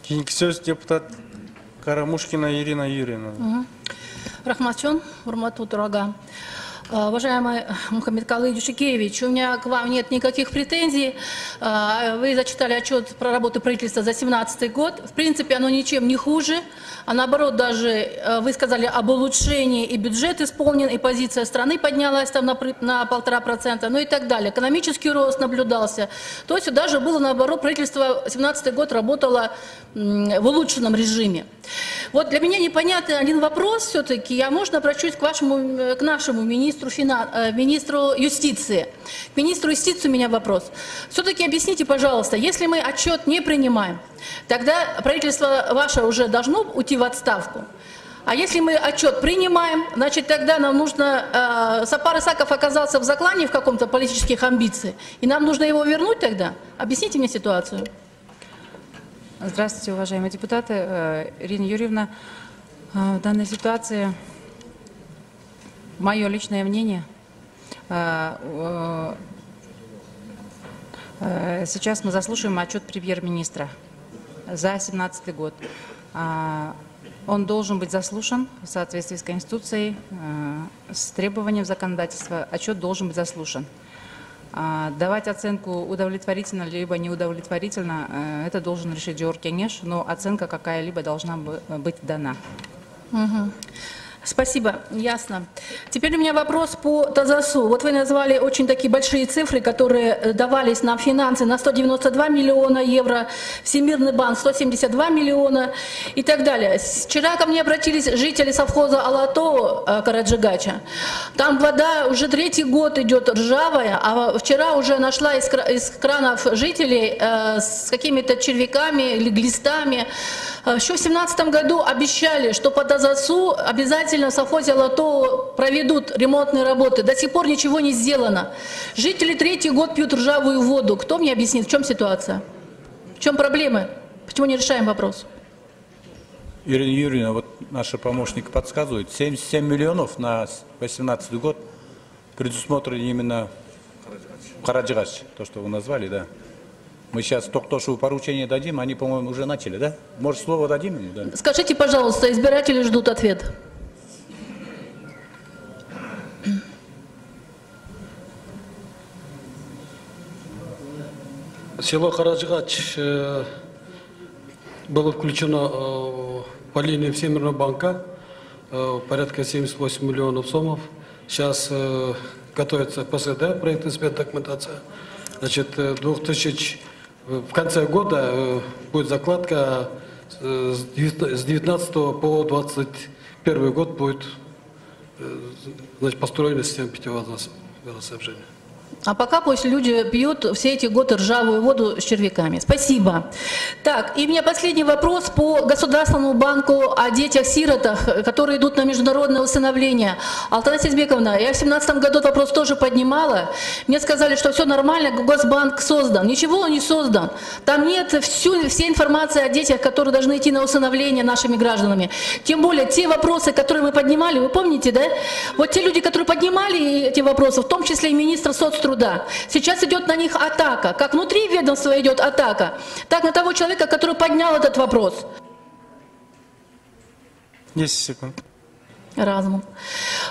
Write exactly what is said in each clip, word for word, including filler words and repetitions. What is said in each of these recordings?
Кийинки сөз депутат Карамушкина Ирина Юрьевна. Рахматчон, урматтуу турага. Уважаемый Мухаммед Калыевич Жукевич, у меня к вам нет никаких претензий. Вы зачитали отчет про работу правительства за две тысячи семнадцатый год. В принципе, оно ничем не хуже. А наоборот, даже вы сказали об улучшении, и бюджет исполнен, и позиция страны поднялась там на, на полтора процента, ну и так далее. Экономический рост наблюдался. То есть даже было наоборот, правительство две тысячи семнадцатый год работало в улучшенном режиме. Вот для меня непонятный один вопрос все-таки. Я, можно, обращусь к, вашему, к нашему министру, финан... министру юстиции. К министру юстиции у меня вопрос. Все-таки объясните, пожалуйста, если мы отчет не принимаем, тогда правительство ваше уже должно уйти в отставку. А если мы отчет принимаем, значит, тогда нам нужно... Э, Сапар Исаков оказался в заклане в каком-то политических амбициях, и нам нужно его вернуть тогда? Объясните мне ситуацию. Здравствуйте, уважаемые депутаты. Ирина Юрьевна, в данной ситуации мое личное мнение. Сейчас мы заслушаем отчет премьер-министра за две тысячи семнадцатый год. Он должен быть заслушан в соответствии с Конституцией, с требованием законодательства. Отчет должен быть заслушан. Давать оценку удовлетворительно либо неудовлетворительно, это должен решить Жогорку Кеңеш, но оценка какая-либо должна быть дана. Угу. Спасибо, ясно. Теперь у меня вопрос по ТАЗАСу. Вот вы назвали очень такие большие цифры, которые давались нам финансы на сто девяносто два миллиона евро, Всемирный банк сто семьдесят два миллиона и так далее. Вчера ко мне обратились жители совхоза Алато Караджигача. Там вода уже третий год идет ржавая, а вчера уже нашла из, из кранов жителей э, с какими-то червяками или глистами. Еще в две тысячи семнадцатом году обещали, что по ТАЗАСу обязательно в совхозе Алато проведут ремонтные работы. До сих пор ничего не сделано. Жители третий год пьют ржавую воду. Кто мне объяснит, в чем ситуация? В чем проблемы? Почему не решаем вопрос? Ирина Юрьевна, вот наша помощник подсказывает, семьдесят семь миллионов на две тысячи восемнадцатый год предусмотрены именно Караджигач, то, что вы назвали, да. Мы сейчас Токтошу поручение дадим, они, по-моему, уже начали, да? Может, слово дадим ему? Да? Скажите, пожалуйста, избиратели ждут ответ. Село Караджигач э, было включено э, по линии Всемирного банка, э, порядка семьдесят восемь миллионов сомов. Сейчас э, готовится ПСД, проектно-сметная документация. Значит, двухтысячный, в конце года э, будет закладка, э, с девятнадцатого по двадцать первый год будет э, значит, построена система питьевого водоснабжения. А пока пусть люди пьют все эти годы ржавую воду с червяками. Спасибо. Так, и у меня последний вопрос по Государственному банку о детях-сиротах, которые идут на международное усыновление. Алтана Сезбековна, я в две тысячи семнадцатом году этот вопрос тоже поднимала. Мне сказали, что все нормально, Госбанк создан. Ничего он не создан. Там нет всю, всей информации о детях, которые должны идти на усыновление нашими гражданами. Тем более, те вопросы, которые мы поднимали, вы помните, да? Вот те люди, которые поднимали эти вопросы, в том числе и министр соцтруда, сейчас идет на них атака. Как внутри ведомства идет атака, так на того человека, который поднял этот вопрос. десять секунд. Разум.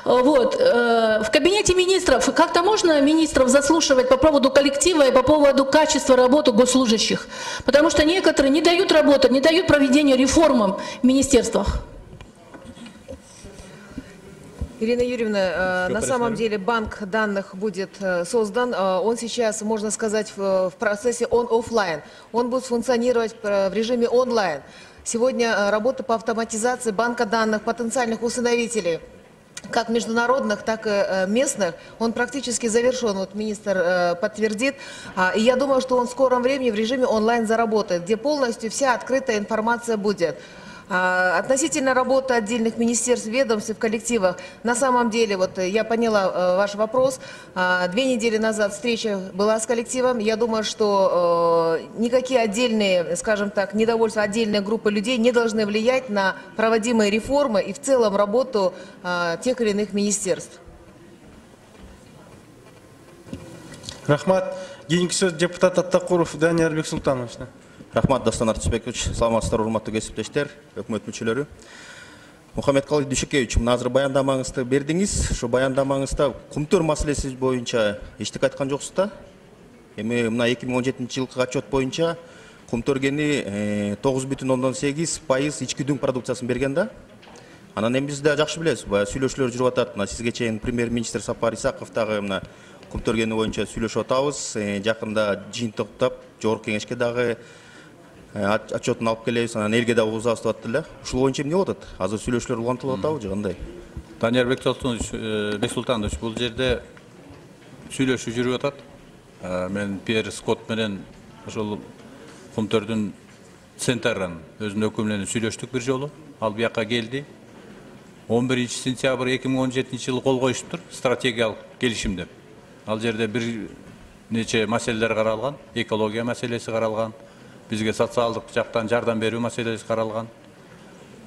Вот. В кабинете министров как-то можно министров заслушивать по поводу коллектива и по поводу качества работы госслужащих? Потому что некоторые не дают работать, не дают проведения реформам в министерствах. Ирина Юрьевна, на самом деле банк данных будет создан. Он сейчас, можно сказать, в процессе он-оффлайн. Он будет функционировать в режиме онлайн. Сегодня работа по автоматизации банка данных потенциальных усыновителей, как международных, так и местных, он практически завершен, вот министр подтвердит. И я думаю, что он в скором времени в режиме онлайн заработает, где полностью вся открытая информация будет. Относительно работы отдельных министерств, ведомств и в коллективах, на самом деле, вот я поняла ваш вопрос, две недели назад встреча была с коллективом, я думаю, что никакие отдельные, скажем так, недовольства отдельной группы людей не должны влиять на проводимые реформы и в целом работу тех или иных министерств. Рахмат. Кийинки сөз депутат Аттакуров Данияр Бексултанович. Рахмат, Дастан Артисбекович. Саламатсыздар, урматтуу кесиптештер, өкмөт мүчөлөрү. Мухаммедкалый Дүйшөкевич, мына азыр баяндамаңызды бердиңиз. Ошо баяндамаңызда кумтөр маселеси боюнча эчтеке айткан жоксуз да? Эми мына эки миң он жетинчи жылкы отчет боюнча кумтөр кени тогуз бүтүн ондон сегиз пайыз ички дүң продукциясын берген да. Анан эми биз да жакшы билебиз, баягы сүйлөшүүлөр жүрүп атат. Мына сизге чейин премьер-министр Сапар Исаков дагы мына кумтөр кени боюнча сүйлөшүп атабыз. Жакында жыйынтыктап жогорку кеңешке дагы отчетун алып келебиз, анан элге дагы угузабыз деп атты эле. Ушул боюнча эмне болуп атат? Азыр сүйлөшүүлөр улантылып атабы же кандай? Данияр Бексултанович, бул жерде сүйлөшүү жүрүп атат. Мен Пьер Скотт менен ошол кумтөрдүн центрын өзүнүн өкүмү менен сүйлөштүк бир жолу. Ал бияка келди. он биринчи сентябрь эки миң он жетинчи жылы кол коюшуптур стратегиялык келишим деп. Ал жерде бир нече маселелер каралган, экология маселеси каралган, бизге социалдык жактан жардам берүү маселеси каралган.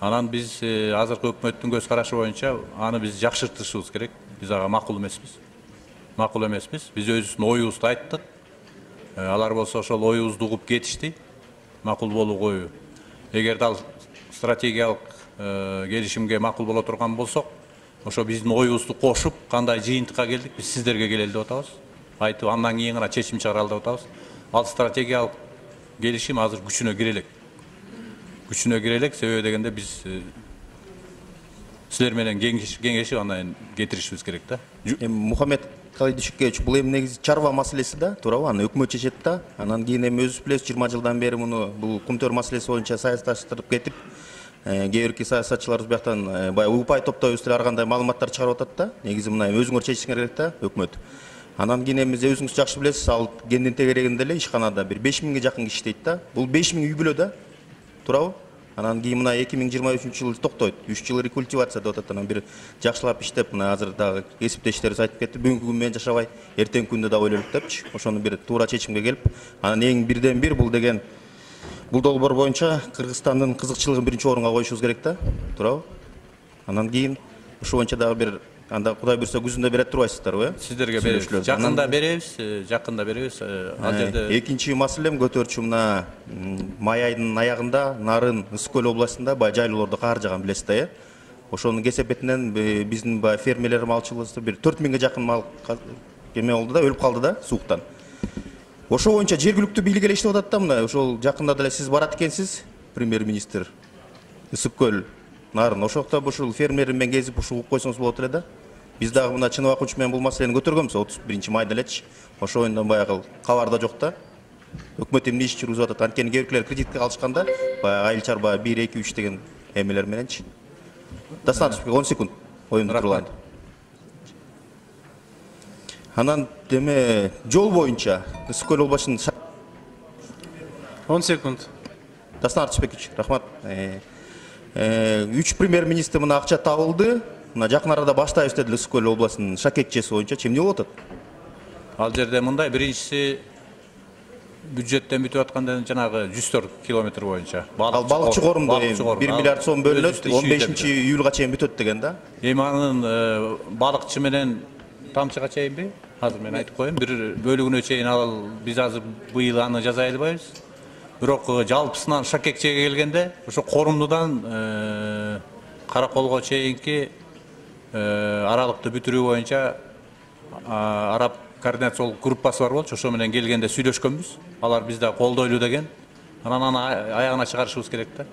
Анан биз азыркы өкмөттүн көз карашы боюнча аны биз жакшыртышыбыз керек. Биз ага макул эмеспиз. Макул эмеспиз. Биз өзүбүздүн оюбузду айттык. Алар болсо ошол оюбузду угуп кетишти. Макул болуу коюу. Эгерде ал стратегиялык келишимге макул боло турган болсок, ошо биздин оюбузду кошуп, кандай жыйынтыкка келдик, биз сиздерге келели деп атабыз. Айтып, андан кийин гана чечим чыгаралы деп атабыз. Ал стратегиялык келишим азыр күчүнө кире элек. Күчүнө кире элек, себеби дегенде биз силер менен кеңешип андан кетиришибиз керек да. Эми Мухаммедкалый Дүйшөкевич, бул эми негизи чарба маселеси да, туурабы? Аны өкмөт чечет да. Анан кийин эми өзүбүз билебиз, жыйырма жылдан бери муну бул кумтөр маселеси боюнча саясатташтырып кетип, кээ бирки саясатчыларыбыз бияктан баягы упай топтойбуз деп ар кандай маалыматтар чыгарып атат да. Негизи мына өзүңөр чечишиңер керек да, өкмөт. Анан кийин эми өзүңүз жакшы билесиз, ал кендин тегерегинде эле ишканада бир беш миңге жакын киши иштейт да. Бул беш миң үй бүлө да, туурабы? Анан кийин мына эки миң жыйырма үчүнчү жылы токтойт. үч жыл рекультивация деп атат. Анан бир жакшылап иштеп, мына азыр дагы кесиптештерибиз айтып кетти, бүгүнкү күн менен жашабай, эртеңки күндө да ойлойлук депчи. Ошону бир туура чечимге келип, анан эң бирден бир бул деген бул долбоор боюнча Кыргызстандын кызыкчылыгын биринчи орунга коюшубуз керек да, туурабы? Анан кийин ушул боюнча дагы бир анда Кудай буйрса күзүндө берет турбайсыздарбы, э? Сиздерге беребиз. Жакында беребиз, жакында беребиз. Ал жерде экинчи маселем көтөрчү, мына май айынын аягында Нарын Ысык көл областында баягы жайлоолордо кар жаган билесиз да, э? Ошонун кесепетинен биздин баягы фермерлер малчылыгыбызда бир төрт миңге жакын мал эме болду да, өлүп калды да сууктан. Ошол боюнча жергиликтүү бийлик эле иштеп атат да, мына ошол жакында деле сиз барат экенсиз, премьер-министр, Ысык көл, Нарын. Ошокто ушул фермер менен кезип ушул угуп койсоңуз болот эле да. Биз дагы мына Чыныбак учу менен бул маселени көтөргөнбүз отуз биринчи майда элечи. Ошол оюндан баягы кабарда жок да. Өкмөт эмне иш жүргүзүп атат? Анткени кээ биркилер кредитке алышканда баягы айыл чарба бир эки үч деген эмелер мененчи. Достаточно он секунд оюнду турган. Анан деме жол боюнча Ысык көл областынын он секунд. Дастан Артисбекович, рахмат. үч премьер-министр мына акча табылды. Мына жакын арада баштайбыз дедилер Ысык көл областынын шакекчеси боюнча. Эмне болуп атат? Ал жерде мындай, биринчиси бюджеттен бүтүп атканда жанагы жүз төрт километр боюнча. Ал балыкчы корумда бир миллиард сом бөлүнөт, он бешинчи июлга чейин бүтөт деген да. Эми анын балыкчы менен тамчыга чейинби? Азыр мен айтып коеюн, бир бөлүгүнө чейин ал биз азыр быйыл аны жаза албайбыз. Бирок жалпысынан шакекчеге келгенде ошо корумдудан Караколго чейинки аралыкты бүтүрүү боюнча араб координациялык группасы бар болчу, ошо менен келгенде сүйлөшкөнбүз. Алар бизде колдойлу деген. Анан аны аягына чыгарышыбыз керек да.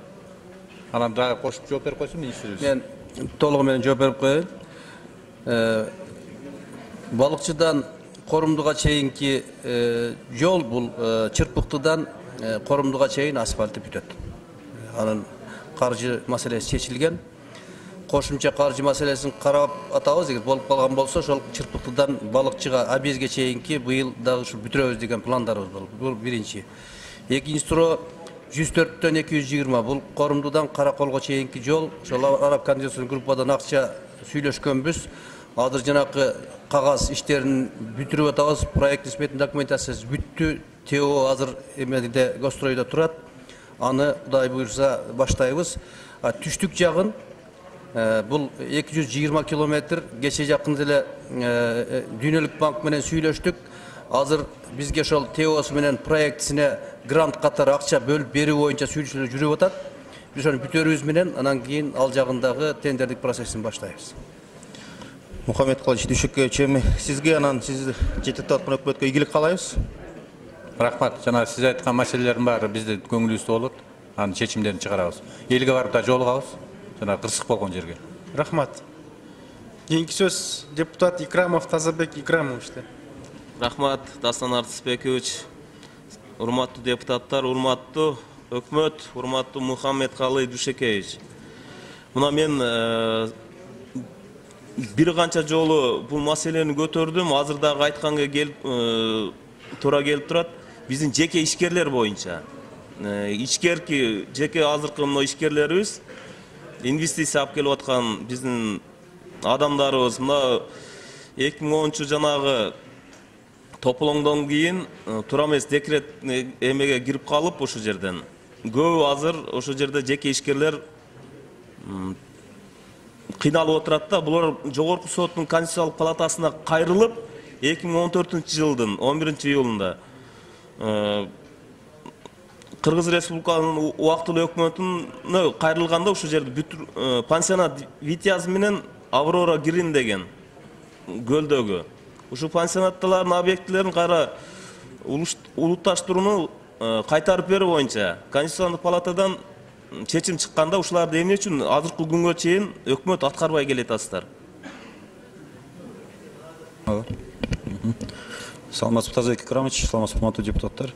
Анан дагы кошуп жооп берип койсун министрибиз. Мен толугу менен жооп берип коеюн. Балыкчыдан Корумдуга чейинки жол бул Чырпыктыдан Корумдуга чейин асфальты бүтөт. Анын каржы маселеси чечилген. Кошумча каржы маселесин карап атабыз, эгер болуп калган болсо, ошол Чырпыктыдан Балыкчыга Абезге чейинки быйыл дагы ушу бүтүрөбүз деген пландарыбыз бар. Бул биринчи. Экинчи суроо жүз төрттөн эки жүз жыйырма. Бул Корумдудан Караколго чейинки жол. Ошол араб координациялык группадан акча сүйлөшкөнбүз. Азыр жанакы кагаз иштерин бүтүрүп атабыз. Проект испетин документациясы бүттү. ТО азыр эмеде Гостройдо турат. Аны Кудай буйрса баштайбыз. Түштүк жагын бул эки жүз жыйырма километр. Кече жакын эле Дүйнөлүк банк менен сүйлөштүк. Азыр бизге ошол ТОсу менен проектисине грант катары акча бөлүп берүү боюнча сүйлөшүүлөр жүрүп атат. Биз ошону бүтөрүбүз менен анан кийин ал жагындагы тендердик процессин баштайбыз. Мухаммед Калыч Дүйшөкеевич, эми сизге анан сиз жетектеп аткан өкмөткө ийгилик каалайбыз. Рахмат. Жана сиз айткан маселелердин баары биздин көңүлүбүздө болот. Анын чечимдерин чыгарабыз. Элге барып да жолугабыз. Жана кырсык болгон жерге. Рахмат. Кийинки сөз депутат Икрамов Тазабек Икрамовичте. Рахмат, Дастан Артысбекович. Урматтуу депутаттар, урматтуу өкмөт, урматтуу Мухаммедкалы Дүйшөкеевич. Мына мен бир канча жолу бул маселени көтөрдүм. Азыр дагы айтканга келип туура келип турат. Биздин жеке ишкерлер боюнча. Ичкерки жеке азыркы мына ишкерлерибиз инвестиция алып келип аткан биздин адамдарыбыз мына эки миң онунчу жанагы тополоңдон кийин туура эмес декрет эмеге кирип калып ошол жерден көбү азыр ошол жерде жеке ишкерлер кыйналып отурат да. Булар жогорку соттун конституциялык палатасына кайрылып эки миң он төртүнчү жылдын он биринчи июлунда Кыргыз Республикасынын убактылуу өкмөтүнө кайрылганда ошол жерде пансионат Витязь менен Аврора Грин деген көлдөгү ушул пансионаттардын объектилерин кайра улутташтырууну кайтарып берүү боюнча Конституциялык палатадан чечим чыкканда ушуларды эмне үчүн азыркы күнгө чейин өкмөт аткарбай келет атасыздар? Саламатсызбы, Тазабек Икрамович, саламатсызбы, урматтуу депутаттар.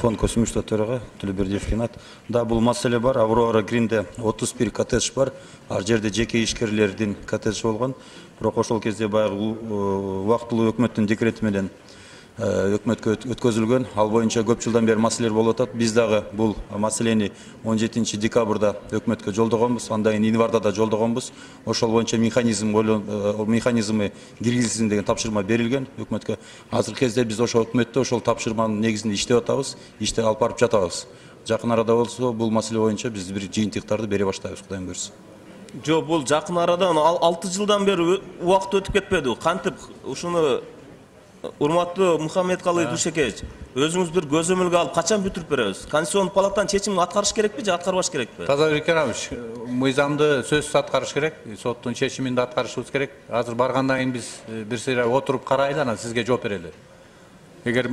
Фонд Көсүмүштө төрага Төлөбердиев Ринат. Да, бул маселе бар. Аврора Гринде отуз бир коттедж бар. Ар жерде жеке ишкерлердин коттеджи болгон. Бирок ошол кезде баягы убактылуу өкмөттүн декрети менен өкмөткө өткөзүлгөн. Ал боюнча көп жылдан бери маселелер болуп атат. Биз дагы бул маселени он жетинчи декабрда өкмөткө жолдогонбуз, андан кийин январда да жолдогонбуз. Ошол боюнча механизм механизми киргизилсин деген тапшырма берилген өкмөткө. Азыркы кезде биз ошол өкмөттө ошол тапшырманын негизинде иштеп атабыз, иштеп алып барып жатабыз. Жакын арада болсо бул маселе боюнча биз бир жыйынтыктарды бере баштайбыз, Кудайым буйрса. Жок, бул жакын арада алты жылдан бери убакыт өтүп кетпеди. Кантип ушуну урматтуу Мухаммедкалы Дүйшөкеевич, өзүңүз бир көзөмөлгө алып качан бүтүрүп беребиз? Конституциялык палатанын чечимин аткарыш керекпи же аткарбаш керекпи? Тазабек Икрамович, мыйзамды сөзсүз аткарыш керек, соттун чечимин да аткарышыбыз керек. Азыр баргандан кийин биз бир сыйра отуруп карайлы, анан сизге жооп берели. Эгер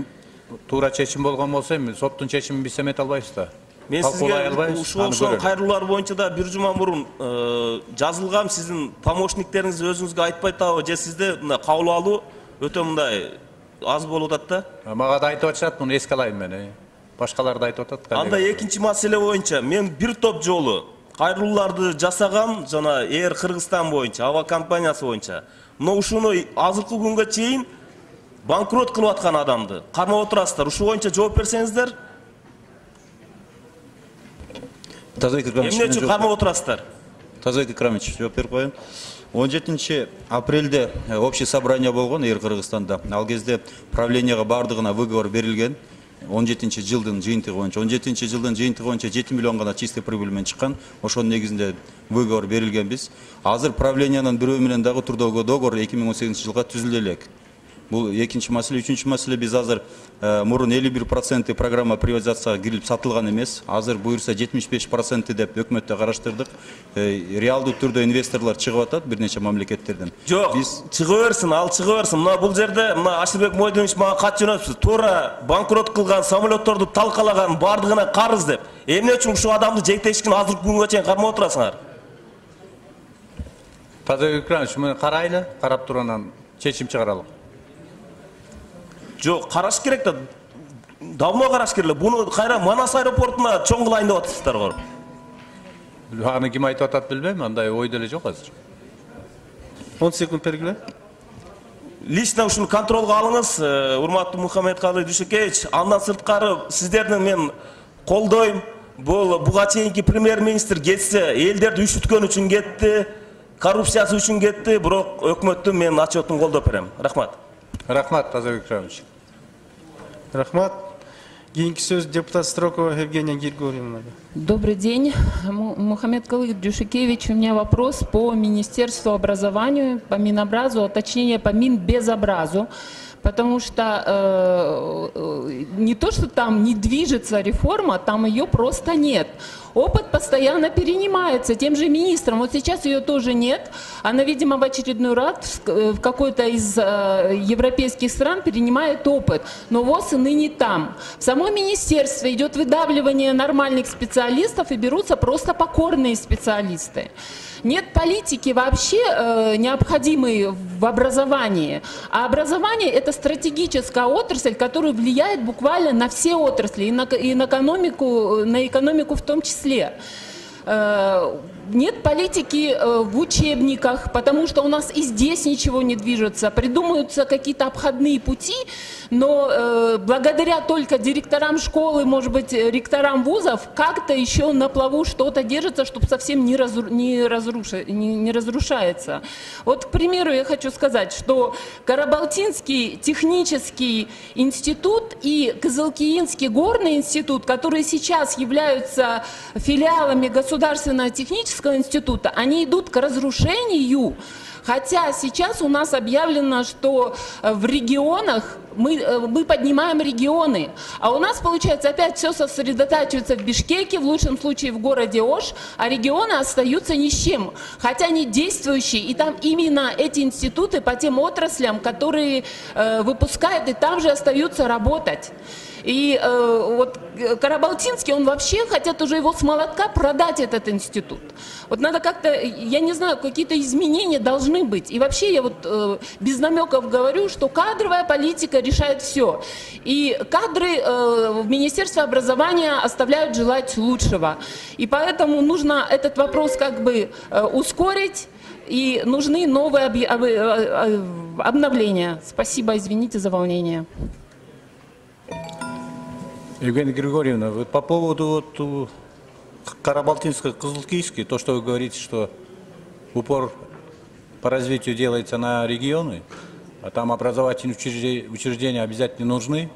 туура чечим болгон болсо, эми соттун чечимин биз эмете албайбыз да. Мен сизге ушул кайрылуулар боюнча да бир жума мурун жазылгам, сиздин помощниктериңиз өзүңүзгө айтпай атабы же сизде мындай кабыл алуу өтө мындай аз болуп атат да? Мага да айтып атышат, муну эске алайын мен. Башкалар да айтып атат. Анда экинчи маселе боюнча мен бир топ жолу кайрылууларды жасагам, жана Air Кыргызстан боюнча, аба компаниясы боюнча. Но ушуну азыркы күнгө чейин банкрот кылып аткан адамды кармап отурасыздар. Ушул боюнча жооп берсеңиздер. Тазабек Икрамович, эмне үчүн кармап отурасыздар? Тазабек Икрамович, жооп берип коеюн. он жетинчи апрелде общее собрание болгон Air Кыргызстанда. Ал кезде правленияга бардыгына выговор берилген. он жетинчи жылдын жыйынтыгы боюнча. он жетинчи жылдын жыйынтыгы боюнча жети миллион гана чистый прибыль менен чыккан. Ошонун негизинде выговор берилген биз. Азыр правлениянын бирөө менен дагы турдагы договор эки миң он сегизинчи жылга түзүлдү элек. Бул экинчи маселе. Үчүнчү маселе, биз азыр мурун элүү бир проценти программа приватизацияга кирип сатылган эмес. Азыр буюрса жетимиш беш проценти деп өкмөттө караштырдык. Реалдуу түрдө инвесторлор чыгып атат бир нече мамлекеттерден. Жок, чыгып берсин, ал чыгып берсин. Мына бул жерде мына Ашырбек Мойдонович мага кат жөнөтүптү. Туура банкрот кылган самолетторду талкалаган бардыгына карыз деп. Эмне үчүн ушул адамды жетектешкин азыркы күнгө чейин кармап отурасыңар? Тазабек Икрамович, муну карайлы, карап туруп анан чечим чыгаралы. Жок, караш керек да. Давно караш керек. Буну кайра Манас аэропортуна чоң кылайын деп атасыздар го. Аны ким айтып атат билбейм, андай ой деле жок азыр. он секунд бергиле. Лично ушуну контролго алыңыз, урматтуу Мухаммедкалы Дүйшөкеевич. Андан сырткары сиздердин мен колдойм. Бул буга чейинки премьер-министр кетсе, элдерди үшүткөн үчүн кетти, коррупциясы үчүн кетти, бирок өкмөттү мен отчетун колдоп берем. Рахмат. Рахмат, Тазабек Икрамович. Рахмат. Кийинки сөз депутат Строкова Евгения Григорьевна. Добрый день. Мухаммедкалы Дүйшөкеевич, у меня вопрос по Министерству образования, по Минобразу, а точнее по Минбезобразу. потому что э, э, не то, что там не движется реформа, там ее просто нет. Опыт постоянно перенимается тем же министром. Вот сейчас ее тоже нет. Она, видимо, в очередной раз в какой-то из э, европейских стран перенимает опыт. Но ВОЗ и ныне там. В самом министерстве идет выдавливание нормальных специалистов и берутся просто покорные специалисты. Нет политики вообще э, необходимой в образовании. А образование – это стратегическая отрасль, которая влияет буквально на все отрасли, и на, и на экономику, на экономику в том числе. Э, нет политики э, в учебниках, потому что у нас и здесь ничего не движется. Придумываются какие-то обходные пути, но э, благодаря только директорам школы, может быть, ректорам вузов, как-то еще на плаву что-то держится, чтобы совсем не, разру, не, разруша, не, не разрушается. Вот, к примеру, я хочу сказать, что Карабалтинский технический институт и Кызылкиинский горный институт, которые сейчас являются филиалами Государственного технического института, они идут к разрушению. Хотя сейчас у нас объявлено, что в регионах мы, мы поднимаем регионы, а у нас, получается, опять все сосредотачивается в Бишкеке, в лучшем случае в городе Ош, а регионы остаются ни с чем, хотя они действующие, и там именно эти институты по тем отраслям, которые э, выпускают, и там же остаются работать. И э, вот Карабалтинский, он вообще хотят уже его с молотка продать, этот институт. Вот надо как-то, я не знаю, какие-то изменения должны быть. И вообще я вот э, без намеков говорю, что кадровая политика решает все. И кадры э, в Министерстве образования оставляют желать лучшего. И поэтому нужно этот вопрос как бы э, ускорить. И нужны новые объ... обновления. Спасибо, извините за волнение. Евгения Григорьевна, вот по поводу вот, Карабалтинско-Кызылкийский, то, что вы говорите, что упор по развитию делается на регионы, а там образовательные учреждения, учреждения обязательно нужны,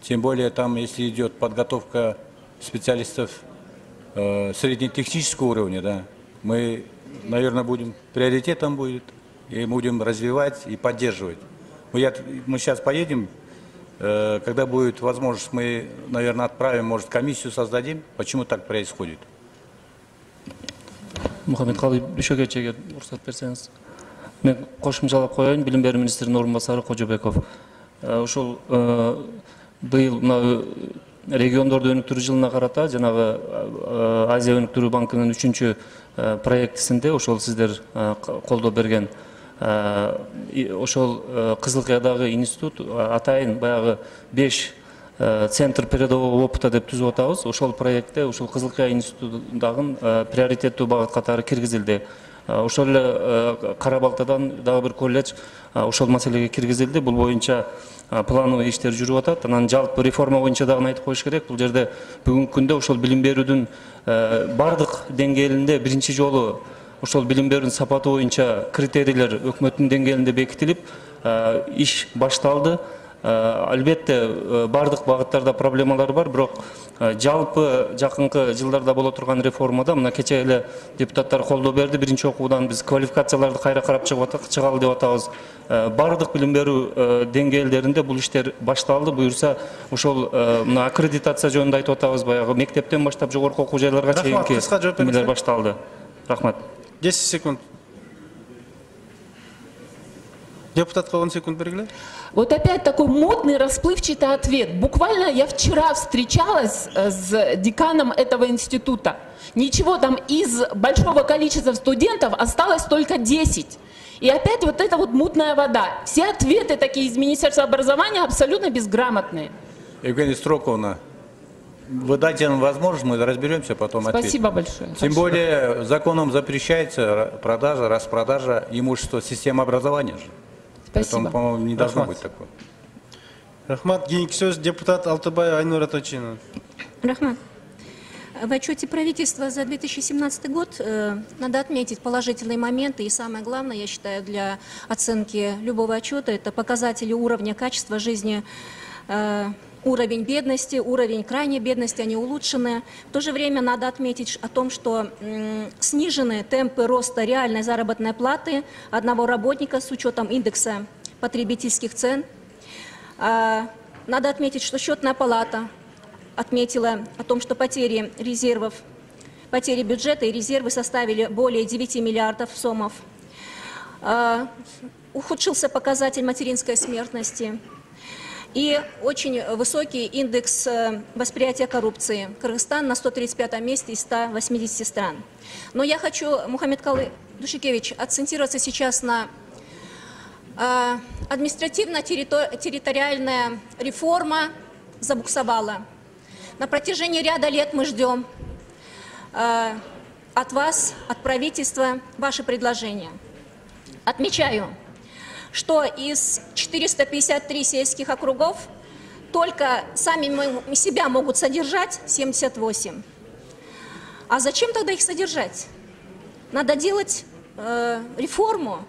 тем более там, если идет подготовка специалистов э, среднетехнического уровня, да, мы, наверное, будем, приоритетом будет, и будем развивать и поддерживать. Мы, я, мы сейчас поедем. Когда будет возможность, мы, наверное, отправим, может, комиссию создадим. Почему так происходит? Мухаммедкалый Дүйшөкевичке уруксат берсеңиз. Мен кошумчалап коеюн, билим берүү министринин орун басары Кожобеков. Ошол быйыл мына региондорду өнүктүрүү жылына карата жанагы Азия өнүктүрүү банкынын үчүнчү проектисинде ошол сиздер колдоо берген ошол Кызылкыядагы институт атайын баягы беш центр передового опыта деп түзүп атабыз. Ошол проектте ошол Кызылкыя институтундагы приоритеттүү багыт катары киргизилди. Ошол эле Карабалтадан дагы бир колледж ошол маселеге киргизилди. Бул боюнча плановый иштер жүрүп атат. Анан жалпы реформа боюнча дагы айтып коюш керек. Бул жерде бүгүнкү күндө ошол билим берүүдүн бардык деңгээлинде биринчи жолу ошол билим берүүнүн сапаты боюнча критерийлер өкмөттүн деңгээлинде бекитилип, иш башталды. Албетте бардык багыттарда проблемалар бар, бирок жалпы жакынкы жылдарда боло турган реформада мына кече эле депутаттар колдоо берди. Биринчи окуудан биз квалификацияларды кайра карап чыгалы деп атабыз. Бардык билим берүү деңгээлдеринде бул иштер башталды. Буюрса ошол мына аккредитация жөнүндө айтып атабыз, баягы мектептен баштап жогорку окуу жайларга чейинки эмелер башталды. Рахмат. десять секунд. Депутатка он секунд бергиле. Вот опять такой модный, расплывчатый ответ. Буквально я вчера встречалась с деканом этого института. Ничего, там из большого количества студентов осталось только десять. И опять вот эта вот мутная вода. Все ответы такие из Министерства образования абсолютно безграмотные. Евгения Строковна, вы дайте нам возможность, мы разберемся, потом ответим. Спасибо большое. Тем более законом запрещается продажа, распродажа имущества системы образования. Спасибо. Поэтому, по-моему, не должно быть такого. Рахмат, кийинки сөз депутат Алтыбай Айнура Точина. Рахмат. В отчете правительства за две тысячи семнадцатый год э, надо отметить положительные моменты. И самое главное, я считаю, для оценки любого отчета, это показатели уровня качества жизни, э, уровень бедности, уровень крайней бедности, они улучшены. В то же время надо отметить о том, что м, снижены темпы роста реальной заработной платы одного работника с учетом индекса потребительских цен. А, Надо отметить, что счетная палата отметила о том, что потери резервов, потери бюджета и резервы составили более девяти миллиардов сомов. А, Ухудшился показатель материнской смертности и очень высокий индекс восприятия коррупции. Кыргызстан на сто тридцать пятом месте из ста восьмидесяти стран. Но я хочу, Мухаммедкалый Душикевич, акцентироваться сейчас на э, административно-территориальная реформа забуксовала. На протяжении ряда лет мы ждем э, от вас, от правительства, ваши предложения. Отмечаю, что из четырёхсот пятидесяти трёх сельских округов только сами себя могут содержать семьдесят восемь. А зачем тогда их содержать? Надо делать э, реформу.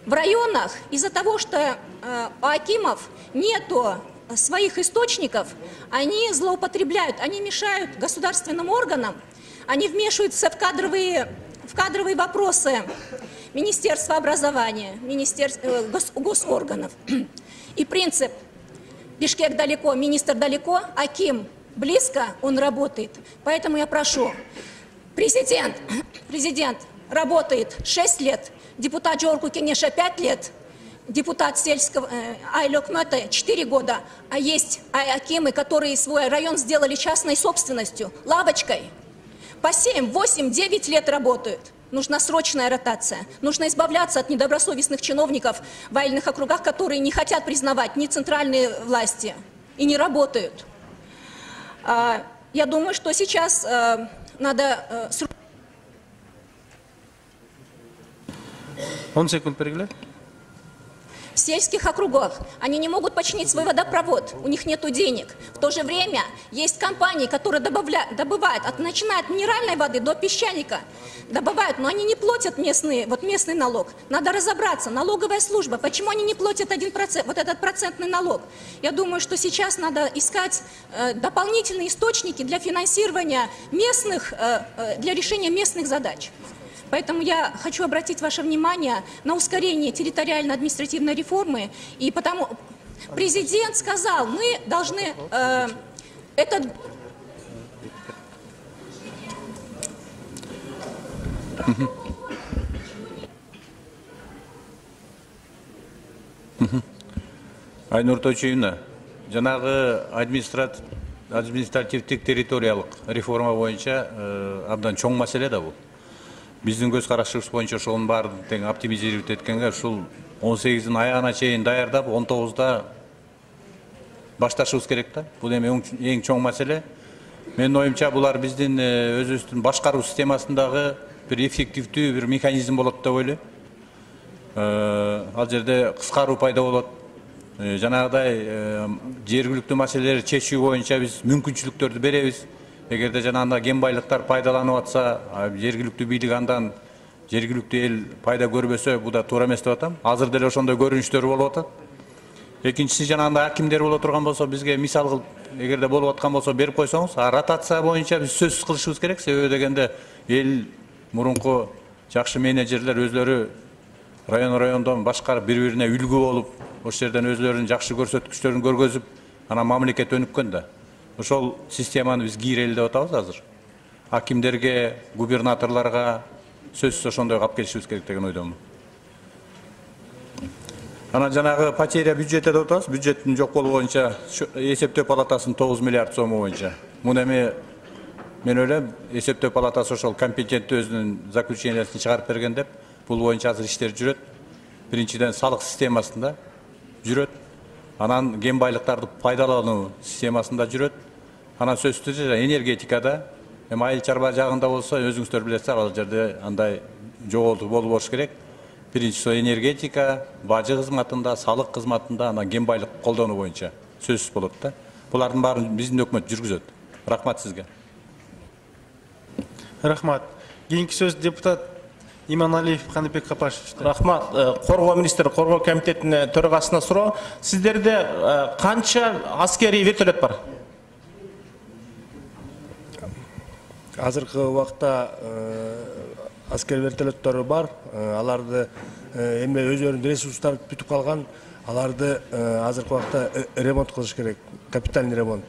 В районах из-за того, что э, у акимов нету своих источников, они злоупотребляют, они мешают государственным органам, они вмешиваются в кадровые, в кадровые вопросы Министерства образования, министерств, э, гос, госорганов. И принцип «Бишкек далеко, министр далеко», аким близко, он работает. Поэтому я прошу, президент, президент работает шесть лет, депутат Джорку Кенеша пять лет, депутат сельского э, Айлёкмёта четыре года, а есть акимы, которые свой район сделали частной собственностью, лавочкой, по семь, восемь, девять лет работают. Нужна срочная ротация. Нужно избавляться от недобросовестных чиновников в военных округах, которые не хотят признавать ни центральные власти и не работают. Я думаю, что сейчас надо... он секунд перегляд. В сельских округах они не могут починить свой водопровод, у них нет денег. В то же время есть компании, которые добавляют, добывают, от, начиная от минеральной воды до песчаника, добывают, но они не платят местный, вот местный налог. Надо разобраться, налоговая служба, почему они не платят один процент, вот этот процентный налог. Я думаю, что сейчас надо искать э, дополнительные источники для финансирования местных, э, э, для решения местных задач. Поэтому я хочу обратить ваше внимание на ускорение территориально-административной реформы. И потому президент сказал, мы должны э, этот... Айнур Тойчуевна, жанагы администрат административдик территориялык реформа боюнча э, абдан чоң маселе да бул. Биздин көз карашыбыз боюнча ошонун баарын тең оптимизировать эткенге ушул он сегиздин аягына чейин даярдап он тогузда башташыбыз керек да. Бул эми эң чоң маселе. Менин оюмча булар биздин өзүбүздүн башкаруу системасындагы бир эффективдүү бир механизм болот деп ойлойм. Ал жерде кыскаруу пайда болот. Жанагыдай жергиликтүү маселелерди чечүү боюнча биз мүмкүнчүлүктөрдү беребиз. Эгерде жанагындай кен байлыктар пайдаланып атса, жергиликтүү бийлик андан жергиликтүү эл пайда көрбөсө, бул да туура эмес деп атам. Азыр деле ошондой көрүнүштөр болуп атат. Экинчиси жанагындай акимдер боло турган болсо, бизге мисал кылып, эгерде болуп аткан болсо берип койсоңуз, а ротация боюнча биз сөзсүз кылышыбыз керек. Себеби дегенде эл мурунку жакшы менеджерлер өзлөрү район райондон башкарып, бири-бирине үлгү болуп, ошол жерден өзлөрүнүн жакшы көрсөткүчтөрүн көргөзүп, анан мамлекет өнүккөн да. Ошол системаны биз кийрели деп атабыз азыр. Акимдерге, губернаторлорго сөзсүз ошондой калып келишибиз керек деген ойдомун. Анан жанагы потеря бюджетте деп атабыз. Бюджеттин жок болуу боюнча эсептөө палатасынын тогуз миллиард сому боюнча. Муну эми мен ойлойм, эсептөө палатасы ошол компетенттүү өзүнүн заключениясын чыгарып берген деп, бул боюнча азыр иштер жүрөт. Биринчиден салык системасында жүрөт. Анан кен байлыктарды пайдалануу системасында жүрөт. Анан сөзсүз түрдө энергетикада, эми айыл чарба жагында болсо, өзүңүздөр билесиз, ал жерде андай жоголтуу болуп болуш керек. Биринчиси энергетика, бажы кызматында, салык кызматында, анан кен байлык колдонуу боюнча сөзсүз болот да. Булардын баарын биздин өкмөт жүргүзөт. Рахмат сизге. Рахмат. Кийинки сөз депутат Иманалиев Каныбек Капашевичте. Рахмат. Коргоо министри, коргоо комитетинин төрагасына суроо. Сиздерде канча аскерий вертолет бар? Азыркы убакта аскер вертолеттори бар. Аларды эми өздөрүнүн ресурстары бүтүп калган. аларды азыркы убакта ремонт кылыш керек, капитальный ремонт.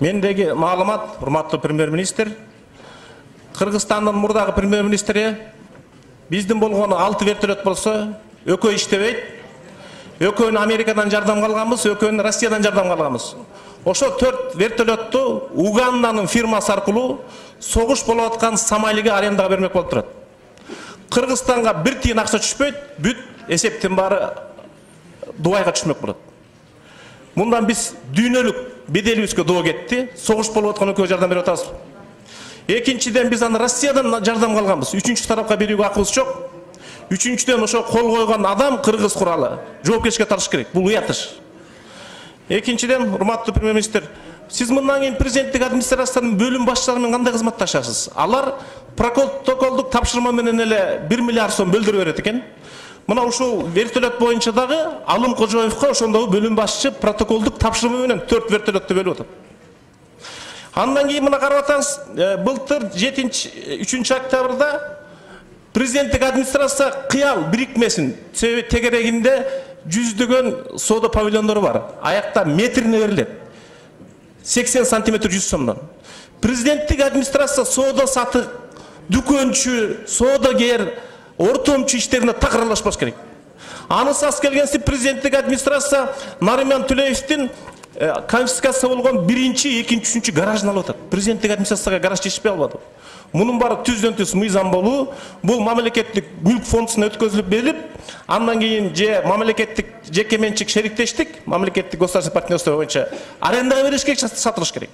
Мендеги маалымат, урматтуу премьер-министр, Кыргызстандын мурдагы премьер-министри биздин болгону алты вертолет болсо, экөө иштебейт. Экөөнү Америкадан жардам алганбыз, экөөнү Россиядан жардам алганбыз. Ошо төрт вертолетту Уганданын фирмасы аркылуу согуш болуп аткан Сомалиге арендага бермек болуп турат. Кыргызстанга бир тиын акча түшпөйт, бүт эсептин баары Дубайга түшмөк болот. Мындан биз дүйнөлүк беделибизге доо кетти, согуш болуп аткан экөө жардам берип атабыз. Экинчиден биз аны Россиядан жардам алганбыз. Үчүнчү тарапка берүүгө акыбыз жок. Үчүнчүдөн ошо кол койгон адам кыргыз куралы. Жоопкерчиликке тартыш керек. Бул уятыш. Экинчиден, урматтуу премьер-министр, сиз мындан кийин президенттик администрациянын бөлүм башчылары менен кандай кызматташасыз? Алар протоколдук тапшырма менен эле бир миллиард сом бөлдүрүп берет экен. Мына ушул вертолет боюнча дагы Алым Кожоевго ошондогу бөлүм башчы протоколдук тапшырма менен төрт вертолетту бөлүп атат. Андан кийин мына карап атасыз, былтыр жетинчи үчүнчү октябрда президенттик администрация кыял бирикмесин тегерегинде жүздөгөн соода павильондору бар. Аякта метрине берилет. сексен сантиметр жүз сомдон. Президенттик администрация соода сатык, дүкөнчү, соодагер, ортомчу иштерине так аралашпаш керек. Анысы аз келгенси президенттик администрация Нариман Түлеевдин конфискация болгон биринчи, экинчи, үчүнчү гаражын алып атат. Президенттик администрацияга гараж жетишпей албады. Мунун баары түздөн түз мыйзам болуу, бул мамлекеттик мүлк фондуна өткөзүлүп берилип, андан кийин же мамлекеттик жеке менчик шериктештик, мамлекеттик государственный партнерство боюнча арендага бериш керек, сатылыш керек.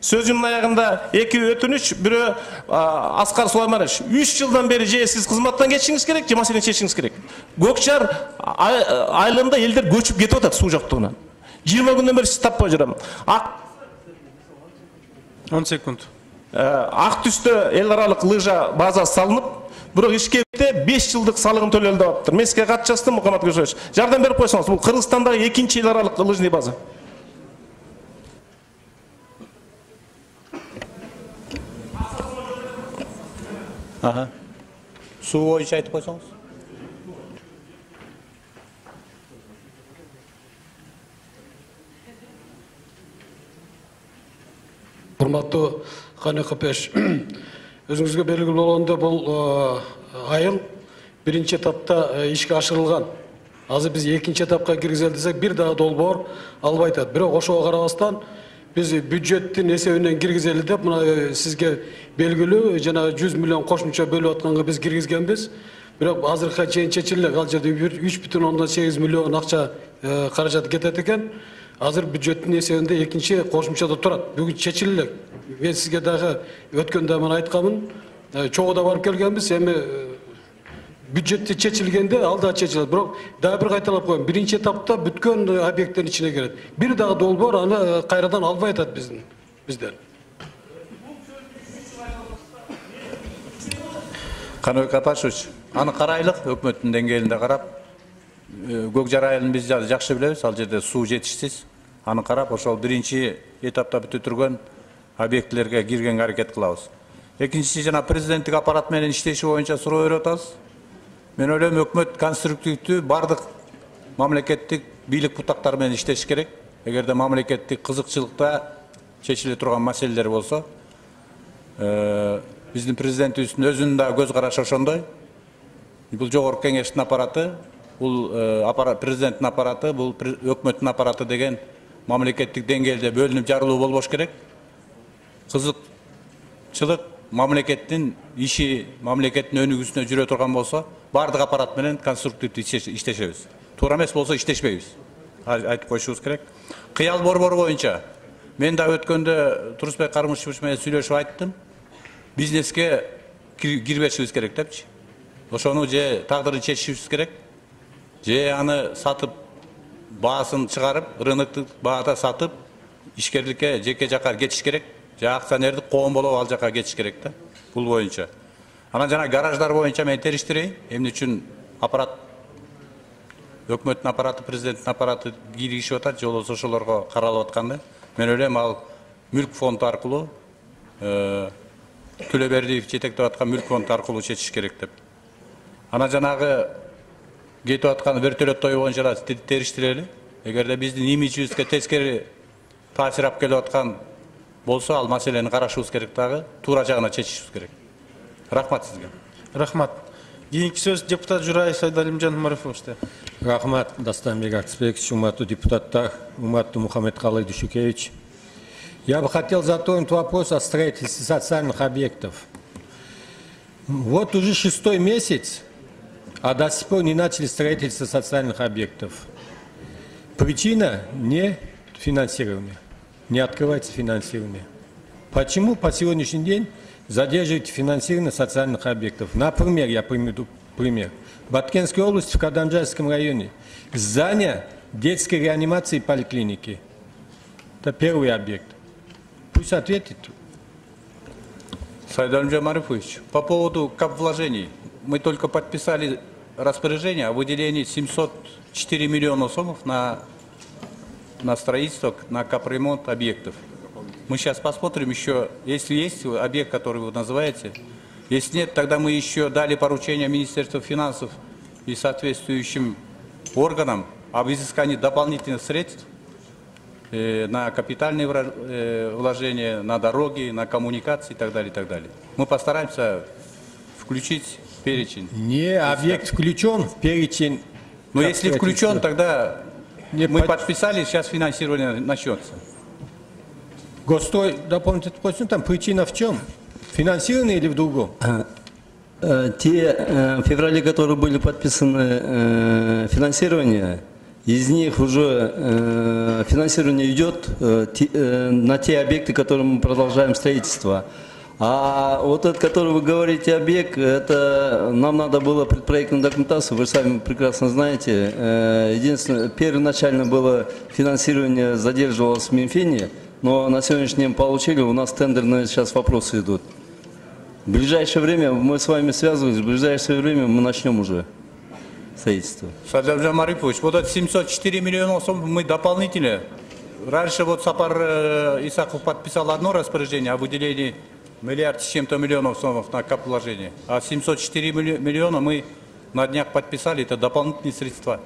Сөзүмдүн аягында эки өтүнүч, бирөө Аскар Сулайманович, үч жылдан бери же сиз кызматтан кетишиңиз керек, же маселени чечишиңиз керек. Көкчар айылында элдер көчүп кетип атат суу жоктугунан. жыйырма күндөн бери сиз таппай жүрөм. он секунд. Ак түстө эл аралык лыжа база салынып, бирок Ишкекте беш жылдык салыгын төлөлдү деп атыптыр. Мен сизге кат жаздым, Мухаммад Көшөевич. Жардам берип койсоңуз, бул Кыргызстандагы экинчи эл аралык лыжный база. Ага. Суу боюнча айтып койсоңуз. Урматтуу Каны Капеш, өзүңүзгө белгилүү болгондой бул айыл биринчи этапта ишке ашырылган. Азыр биз экинчи этапка киргизели десек, бир дагы долбоор албай атат. Бирок ошого карабастан биз бюджеттин эсебинен киргизели деп, мына сизге белгилүү жана жүз миллион кошумча бөлүп атканга биз киргизгенбиз. Бирок азыркыга чейин чечиле, ал жерде үч бүтүн ондон сегиз миллион акча каражат кетет экен. Азыр бюджеттин эсебинде экинчи кошумчада турат. Бүгүн чечиле. Мен сизге дагы өткөндө мен айтканмын, чогуу барып келгенбиз, эми бюджетти чечилгенде ал да чечилет. Бирок дагы бир кайталап коеюн, биринчи этапта бүткөн объекттин ичине кирет. Бир дагы долбоор аны кайрадан албай атат биздин бизден. Каныбек Апашевич, аны карайлык, өкмөттүн деңгээлинде карап, Көкжар айылын биз жакшы билебиз, ал жерде суу жетишсиз. Аны карап, ошол биринчи этапта бүтүргөн объектлерге киргенге аракет кылабыз. Экинчиси, жана президенттик аппарат менен иштеши боюнча суроо берип атабыз. Мен ойлойм, өкмөт конструктивдүү бардык мамлекеттик бийлик бутактары менен иштеш керек. Эгерде мамлекеттик кызыкчылыкта чечиле турган маселелер болсо, биздин президентибиздин өзүнүн да көз карашы ошондой. Бул жогорку кеңештин аппараты, бул президенттин аппараты, бул өкмөттүн аппараты деген мамлекеттик деңгээлде бөлүнүп жарылуу болбош керек. Кызыкчылык мамлекеттин иши, мамлекеттин өнүгүүсүнө жүрө турган болсо, бардык аппарат менен конструктивдүү иштешебиз. Туура эмес болсо иштешпейбиз. Айтып коюшубуз керек. Кыял борбору боюнча мен да өткөндө Турусбек Кармышевич менен сүйлөшүп айттым. Бизнеске кирбешибиз керек депчи. Ошону же тагдырын чечишибиз керек, же аны сатып, баасын чыгарып, рыноктук баада сатып, ишкерликке жеке жака кетиш керек, же акционердик коом болуп ал жака кетиш керек да. Бул боюнча. Анан жана гараждар боюнча мен териштирейин. Эмне үчүн аппарат, өкмөттүн аппараты, президенттин аппараты киригишип атат, же болбосо ошолорго каралып атканды. Мен ойлойм, ал мүлк фонду аркылуу, Төлөбердиев жетектеп аткан мүлк фонду аркылуу чечиш керек деп. Ана жанагы кетип аткан вертолеттoi боюнча териштирели. Эгерде биздин имиджибизге тескери таасир алып келип аткан болсо, ал маселени карашыбыз керек дагы, туура жагына чечишибиз керек. Рахмат сизге. Рахмат. Кийинки сөз депутат Журай Сайдалимжан Марифовичте. Рахмат, Дастанбек Аксбекович, урматтуу депутаттар, урматтуу Мухаммедкалый Дүйшөкевич. Я бы хотел затронуть вопрос о строительстве социальных объектов. Вот уже шестой месяц, а до сих пор не начали строительство социальных объектов. Причина не финансирование, не открывается финансирование. Почему по сегодняшний день задерживаете финансирование социальных объектов? Например, я приведу пример. В Баткенской области, в Кадамджайском районе, здание детской реанимации и поликлиники. Это первый объект. Пусть ответит. Сайдалимжан Марифович, по поводу капвложений. Мы только подписали распоряжение о выделении семьсот четыре миллиона сомов на, на строительство, на капремонт объектов. Мы сейчас посмотрим еще, если есть объект, который вы называете. Если нет, тогда мы еще дали поручение Министерству финансов и соответствующим органам об изыскании дополнительных средств э, на капитальные э, вложения, на дороги, на коммуникации и так далее, и так далее. Мы постараемся включить в перечень. Не, объект включен в перечень. Но если включен, тогда не мы под... подписали, сейчас финансирование начнется. Госстрой дополнительный просим, там причина в чем? Финансирование или в другом? Те в феврале, которые были подписаны финансирование, из них уже финансирование идет на те объекты, которые мы продолжаем строительство. А вот этот, который вы говорите, объект, это нам надо было предпроектную документацию, вы сами прекрасно знаете. Единственное, первоначально было финансирование задерживалось в Минфине, но на сегодняшний день получили, у нас тендерные сейчас вопросы идут. В ближайшее время мы с вами связывались, в ближайшее время мы начнем уже строительство. Сайдалимжан Марифович, вот эти семьсот четыре миллиона сом мы дополнительно. Раньше вот Сапар Исаков подписал одно распоряжение о выделении миллиард с чем-то миллионов сомов на капвложение, а семьсот четыре миллиона мы на днях подписали, это дополнительные средства.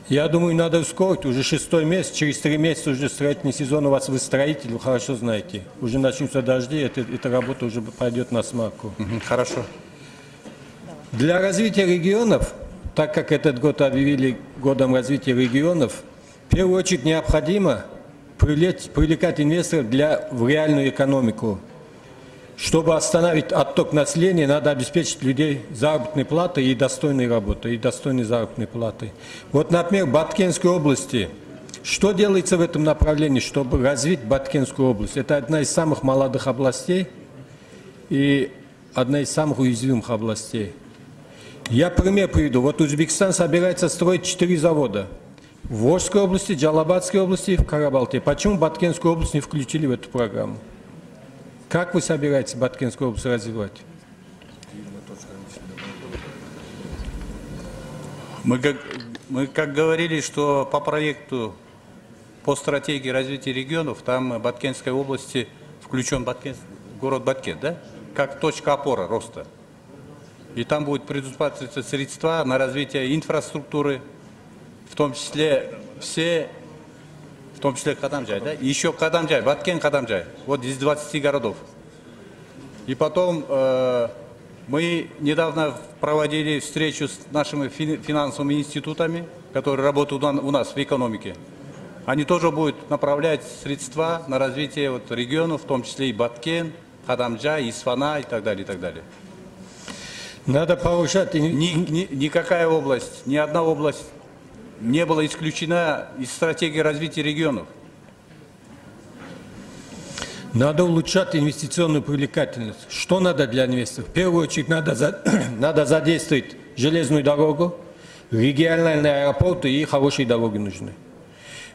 Я думаю, надо ускорить, уже шестой месяц, через три месяца уже строительный сезон у вас, вы строитель, вы хорошо знаете. Уже начнутся дожди, это, эта работа уже пойдет на смарку. Хорошо. Для развития регионов, так как этот год объявили годом развития регионов, в первую очередь необходимо привлечь, привлекать инвесторов для, в реальную экономику. Чтобы остановить отток населения, надо обеспечить людей заработной платой и достойной работой, и достойной заработной платой. Вот, например, в Баткенской области. Что делается в этом направлении, чтобы развить Баткенскую область? Это одна из самых молодых областей и одна из самых уязвимых областей. Я пример приведу. Вот Узбекистан собирается строить четыре завода. В Волжской области, Джалабадской области и в Карабалте. Почему Баткенскую область не включили в эту программу? Как вы собираетесь Баткенскую область развивать? Мы как, мы как говорили, что по проекту, по стратегии развития регионов, там Баткенской области включен Баткен, город Баткен, да? Как точка опоры роста. И там будет предусматриваться средства на развитие инфраструктуры, в том числе все, в том числе Кадамджай, да? И еще Кадамджай, Баткен Кадамджай, вот из двадцати городов. И потом э, мы недавно проводили встречу с нашими финансовыми институтами, которые работают у нас в экономике. Они тоже будут направлять средства на развитие вот регионов, в том числе и Баткен, Кадамджай, Исфана и так далее, и так далее. Надо повышать... Ни, ни, никакая область, ни одна область не была исключена из стратегии развития регионов. Надо улучшать инвестиционную привлекательность. Что надо для инвесторов? В первую очередь надо, за... надо задействовать железную дорогу, региональные аэропорты и хорошие дороги нужны.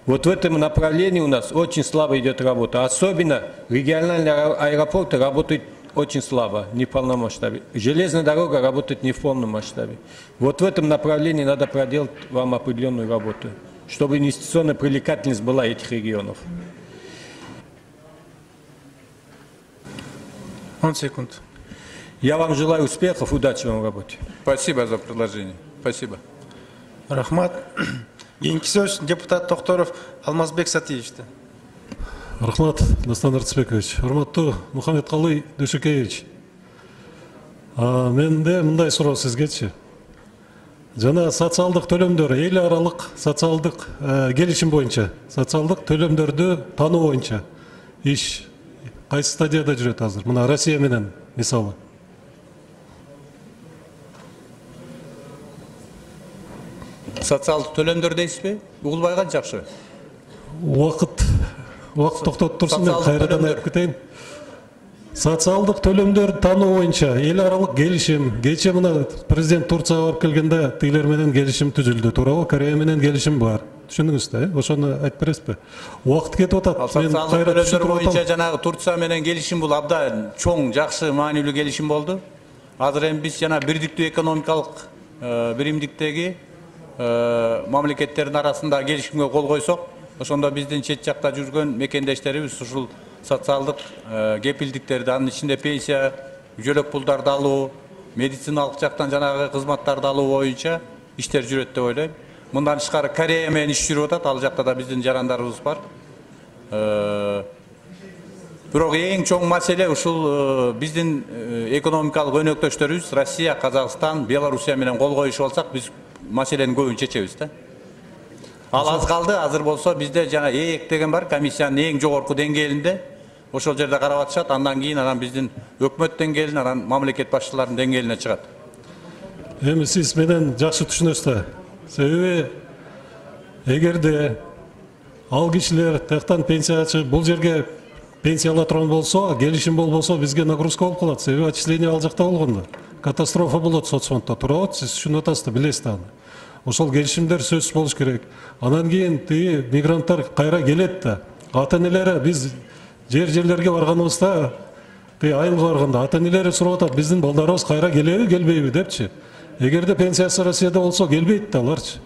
Вот в этом направлении у нас очень слабо идет работа. Особенно региональные аэропорты работают очень слабо, не в полном масштабе. Железная дорога работает не в полном масштабе. Вот в этом направлении надо проделать вам определенную работу, чтобы инвестиционная привлекательность была этих регионов. Он секунд. Я вам желаю успехов, удачи вам в работе. Спасибо за предложение. Спасибо. Рахмат. Кийинки сөз депутат Токторов Алмазбек Сатиевичте. Рахмат, Дастан Артысбекович. Урматтуу Мухаммедкалый Дүйшөкеевич. Менде мындай суроо сизгечи. Жана социалдык төлөмдөр, эл аралык социалдык келишим боюнча, социалдык төлөмдөрдү тануу боюнча иш кайсы стадияда жүрөт азыр? Мына Россия менен мисалы. Социалдык төлөмдөр дейсизби? Угулбай калды жакшы. Убакыт убакыт токтотуп турсун, мен кайрадан айтып кетейин. Социалдык төлөмдөр тануу боюнча эл аралык келишим, кече мына президент Турцияга барып келгенде тигилер менен келишим түзүлдү, туурабы? Корея менен келишим бар. Түшүндүңүз да, э? Ошону айтып бересизби? Убакыт кетип атат. Мен социалдык төлөмдөр боюнча жанагы Турция менен келишим бул абдан чоң, жакшы, маанилүү келишим болду. Азыр эми биз жана бирдиктүү экономикалык биримдиктеги мамлекеттердин арасында келишимге кол койсок, ошондо биздин чет жакта жүргөн мекендештерибиз ушул социалдык кепилдиктерди, анын ичинде пенсия, жөлөк пулдарды алуу, медициналык жактан жанагы кызматтарды алуу боюнча иштер жүрөт деп ойлойм. Мындан тышкары Корея менен иш жүрүп атат, ал жакта да биздин жарандарыбыз бар. Бирок эң чоң маселе ушул биздин экономикалык өнөктөштөрүбүз Россия, Казакстан, Белоруссия менен кол коюшуп алсак, биз маселенин көбүн чечебиз да. Ал аз калды, азыр болсо бизде жана ЭЭК деген бар, комиссиянын эң жогорку деңгээлинде. Ошол жерде карап атышат, андан кийин анан биздин өкмөт деңгээлине, анан мамлекет башчыларынын деңгээлине чыгат. Эми сиз менен жакшы түшүнөсүз да. Себеби эгерде ал кишилер тактан пенсиячы бул жерге пенсия ала турган болсо, келишим болбосо бизге нагрузка болуп калат. Себеби отчисление ал жакта болгондо. Катастрофа болот соцфонддо, туурабы? Сиз түшүнүп атасыз да, билесиз да аны. Ошол келишимдер сөзсүз болуш керек. Анан кийин тиги мигранттар кайра келет да. Ата-энелери биз жер-жерлерге барганыбызда, тиги айылга барганда ата-энелери сурап атат, биздин балдарыбыз кайра келеби, келбейби депчи. Эгерде пенсиясы Россияда болсо келбейт да аларчы.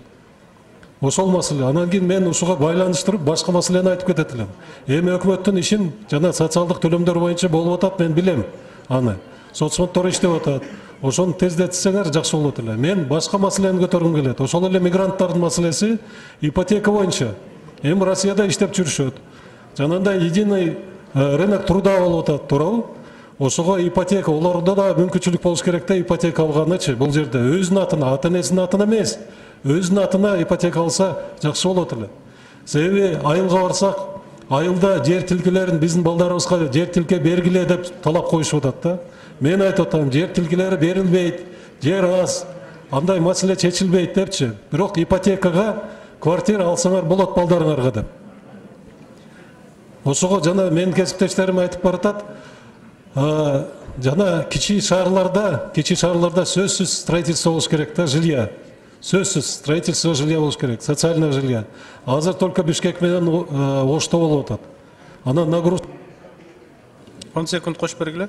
Ошол маселе. Анан кийин мен ушуга байланыштырып башка маселени айтып кетет элем. Эми өкмөттүн ишин жана социалдык төлөмдөр боюнча болуп атат, мен билем аны. Соцфонддор иштеп атат. Ошону тездетсеңер жакшы болот эле. Мен башка маселени көтөргүм келет. Ошол эле мигранттардын маселеси ипотека боюнча. Эми Россияда иштеп жүрүшөт. Жанагындай единый рынок труда болуп атат, туурабы? Ошого ипотека, олордо да мүмкүнчүлүк болуш керек да, ипотека алганычы. Бул жерде өзүнүн атына, ата-энесинин атына эмес, өзүнүн атына ипотека алса жакшы болот эле. Себеби айылга барсак, айылда жер тилкелерин биздин балдарыбызга жер тилке бергиле деп талап коюшуп атат да. Мен айтып атам, жер тилкелери берилбейт, жер аз, андай маселе чечилбейт депчи. Бирок ипотекага квартира алсаңар болот балдарыңарга деп. Ошого жана менин кесиптештерим айтып баратат, жана кичи шаарларда, кичи шаарларда сөзсүз строительство болуш керек да, жилья. Сөзсүз строительство жилья болуш керек, социальное жилья. Азыр только Бишкек менен Ошто болуп атат. Анан нагрузка он секунд кошуп бергиле.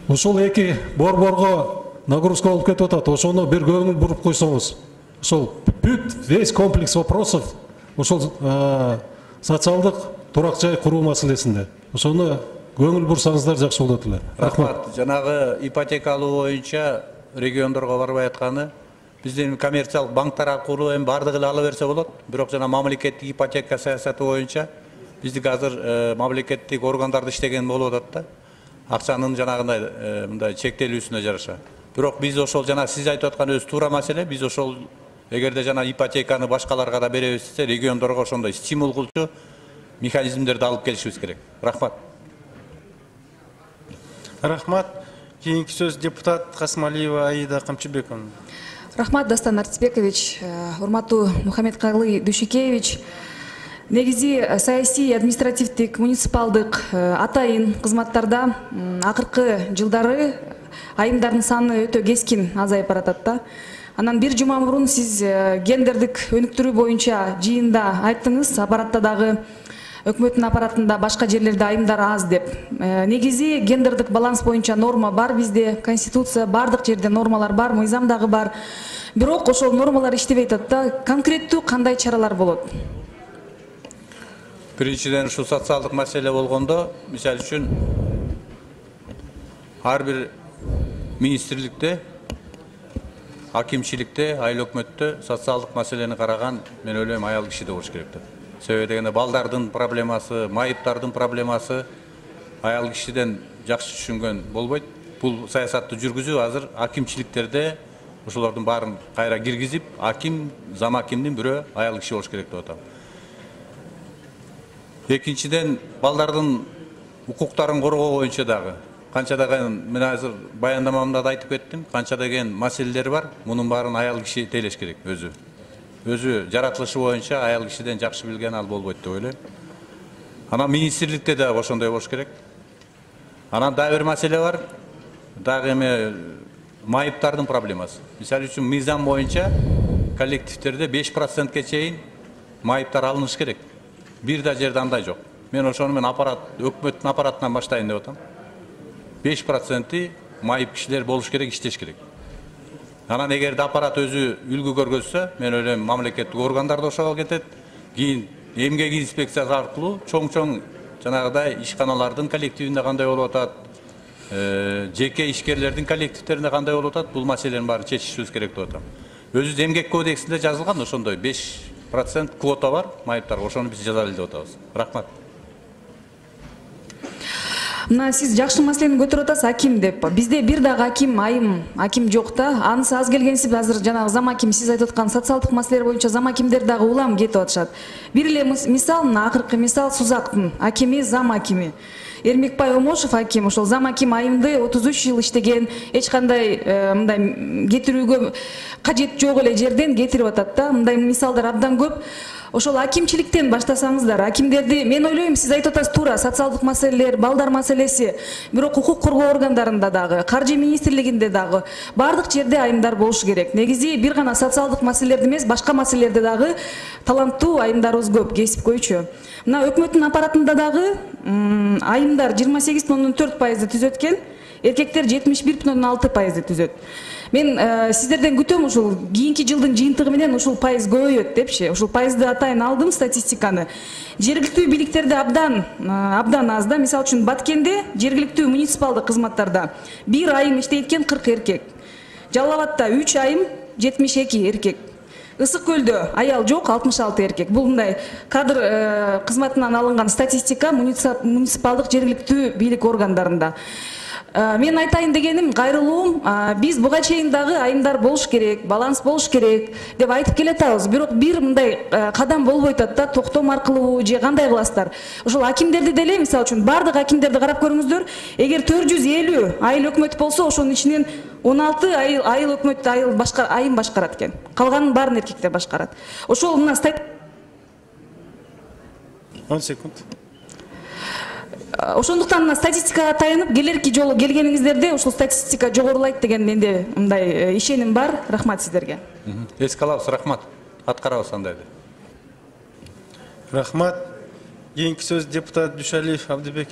Ошол эки борборго нагрузка болуп кетип атат. Ошону бир көңүл буруп койсоңуз. Ошол бүт весь комплекс вопросов ошол социалдык турак жай куруу маселесинде. Ошону көңүл бурсаңыздар жакшы болот эле. Рахмат. Жанагы ипотека алуу боюнча региондорго барбай атканы, биздин коммерциялык банктар аркылуу эми бардыгы эле ала берсе болот. Бирок жана мамлекеттик ипотека саясаты боюнча биздики азыр мамлекеттик органдарда иштеген болуп атат да. Акчанын жанагындай мындай чектелүүсүнө жараша. Бирок биз ошол жана сиз айтып атканыңыз туура маселе. Биз ошол эгерде жана ипотеканы башкаларга да беребиз десе, региондорго ошондой стимул кылчу механизмдерди алып келишибиз керек. Рахмат. Рахмат. Кийинки сөз депутат Касымалиева Аида Камчыбековна. Рахмат, Дастан Артысбекович, урматтуу Мухаммедкалый Дүйшөкеевич. Негизи саясий, административдик, муниципалдык атайын кызматтарда акыркы жылдары айымдардын саны өтө кескин азайып баратат да. Анан бир жума мурун сиз гендердик өнүктүрүү боюнча жыйында айттыңыз, аппаратта дагы өкмөттүн аппаратында башка жерлерде айымдар аз деп. Негизи гендердик баланс боюнча норма бар бизде, конституция, бардык жерде нормалар бар, мыйзам дагы бар. Бирок ошол нормалар иштебей атат да. Конкреттүү кандай чаралар болот? Биринчиден ушу социалдык маселе болгондо, мисалы үчүн ар бир министрликте акимчиликте, айыл өкмөттө социалдык маселени караган мен ойлойм аял киши да болуш керек деп. Себеби дегенде балдардын проблемасы, майыптардын проблемасы аял кишиден жакшы түшүнгөн болбойт. Бул саясатты жүргүзүү азыр акимчиликтерде ошолордун баарын кайра киргизип, аким, зам акимдин бирөө аял киши болуш керек деп атам. Экинчиден, балдардын укуктарын коргоо боюнча дагы канча деген мен азыр баяндамамда да айтып кеттим, канча деген маселелер бар. Мунун баарын аял киши тейлеш керек өзү. Өзү жаратылышы боюнча аял кишиден жакшы билген ал болбойт деп ойлойм. Анан министрликте да ошондой болуш керек. Анан дагы бир маселе бар. Дагы эме майыптардын проблемасы. Мисалы үчүн мыйзам боюнча коллективдерде беш процентке чейин майыптар алыныш керек. Бир да жерде андай жок. Мен ошону мен аппарат, өкмөттүн аппаратынан баштайын деп атам. беш проценти майып кишилер болуш керек, иштеш керек. Анан эгерде аппарат өзү үлгү көргөзсө, мен ойлойм мамлекеттик органдар да ошого кетет. Кийин эмгек инспекциясы аркылуу чоң-чоң жанагыдай ишканалардын коллективинде кандай болуп атат, жеке ишкерлердин коллективдеринде кандай болуп атат, бул маселенин баарын чечишибиз керек деп атам. Өзү эмгек кодексинде жазылган ошондой беш процент квота бар майыптарга, ошону биз жазалы деп атабыз. Рахмат. Мына сиз жакшы маселени көтөрүп атасыз, аким деп. Бизде бир дагы аким, айым, аким жок да. Анысы аз келгенсип азыр жанагы зам аким, сиз айтып аткан социалдык маселелер боюнча зам акимдер дагы улам кетип атышат. Бир эле мисал, мына акыркы мисал Сузактын акими, зам акими. Эрмекбай Омошев аким, ошол зам аким айымды отуз үч жыл иштеген, эч кандай мындай кетирүүгө кажет жок эле жерден кетирип атат да. Мындай мисалдар абдан көп. Ошол акимчиликтен баштасаңыздар, акимдерди, мен ойлойм, сиз айтып атасыз туура, социалдык маселелер, балдар маселеси, бирок укук коргоо органдарында дагы, каржы министрлигинде дагы бардык жерде айымдар болуш керек. Негизи бир гана социалдык маселелерди эмес, башка маселелерде дагы таланттуу айымдарыбыз көп, кесипкөйчү. Мына өкмөттүн аппаратында дагы айымдар жыйырма сегиз бүтүн ондон төрт пайызды түзөт экен, эркектер жетимиш бир бүтүн ондон алты пайызды түзөт. Мен сиздерден күтөм ушул кийинки жылдын жыйынтыгы менен ушул пайыз көбөйөт депчи. Ушул пайызды атайын алдым статистиканы. Жергиликтүү бийликтерде абдан абдан аз да. Мисалы үчүн Баткенде жергиликтүү муниципалдык кызматтарда бир айым иштейт экен кырк эркек. Жалал Абадта үч айым жетимиш эки эркек. Ысык Көлдө аял жок алтымыш алты эркек. Бул мындай кадр кызматынан алынган статистика муниципалдык жергиликтүү бийлик органдарында. Мен айтайын дегеним, кайрылуум, биз буга чейин дагы айымдар болуш керек, баланс болуш керек деп айтып келатабыз. Бирок бир мындай кадам болбой атат да, токтом аркылуу же кандай кыласыздар. Ошол акимдерди деле, мисалы үчүн бардык акимдерди карап көрүңүздөр. Эгер төрт жүз элүү айыл өкмөт болсо, ошонун ичинен он алты айыл айыл өкмөттү айыл башкар айым башкарат экен. Калганын баарын эркектер башкарат. Ошол мына он секунд. Ошондуктан мына статистикага таянып, келерки жолу келгениңиздерде ушул статистика жогорулайт деген менде мындай ишеним бар. Рахмат сиздерге. Эске алабыз, рахмат. Аткарабыз андайды. Рахмат. Кийинки сөз депутат Дүйшалиев Абдыбек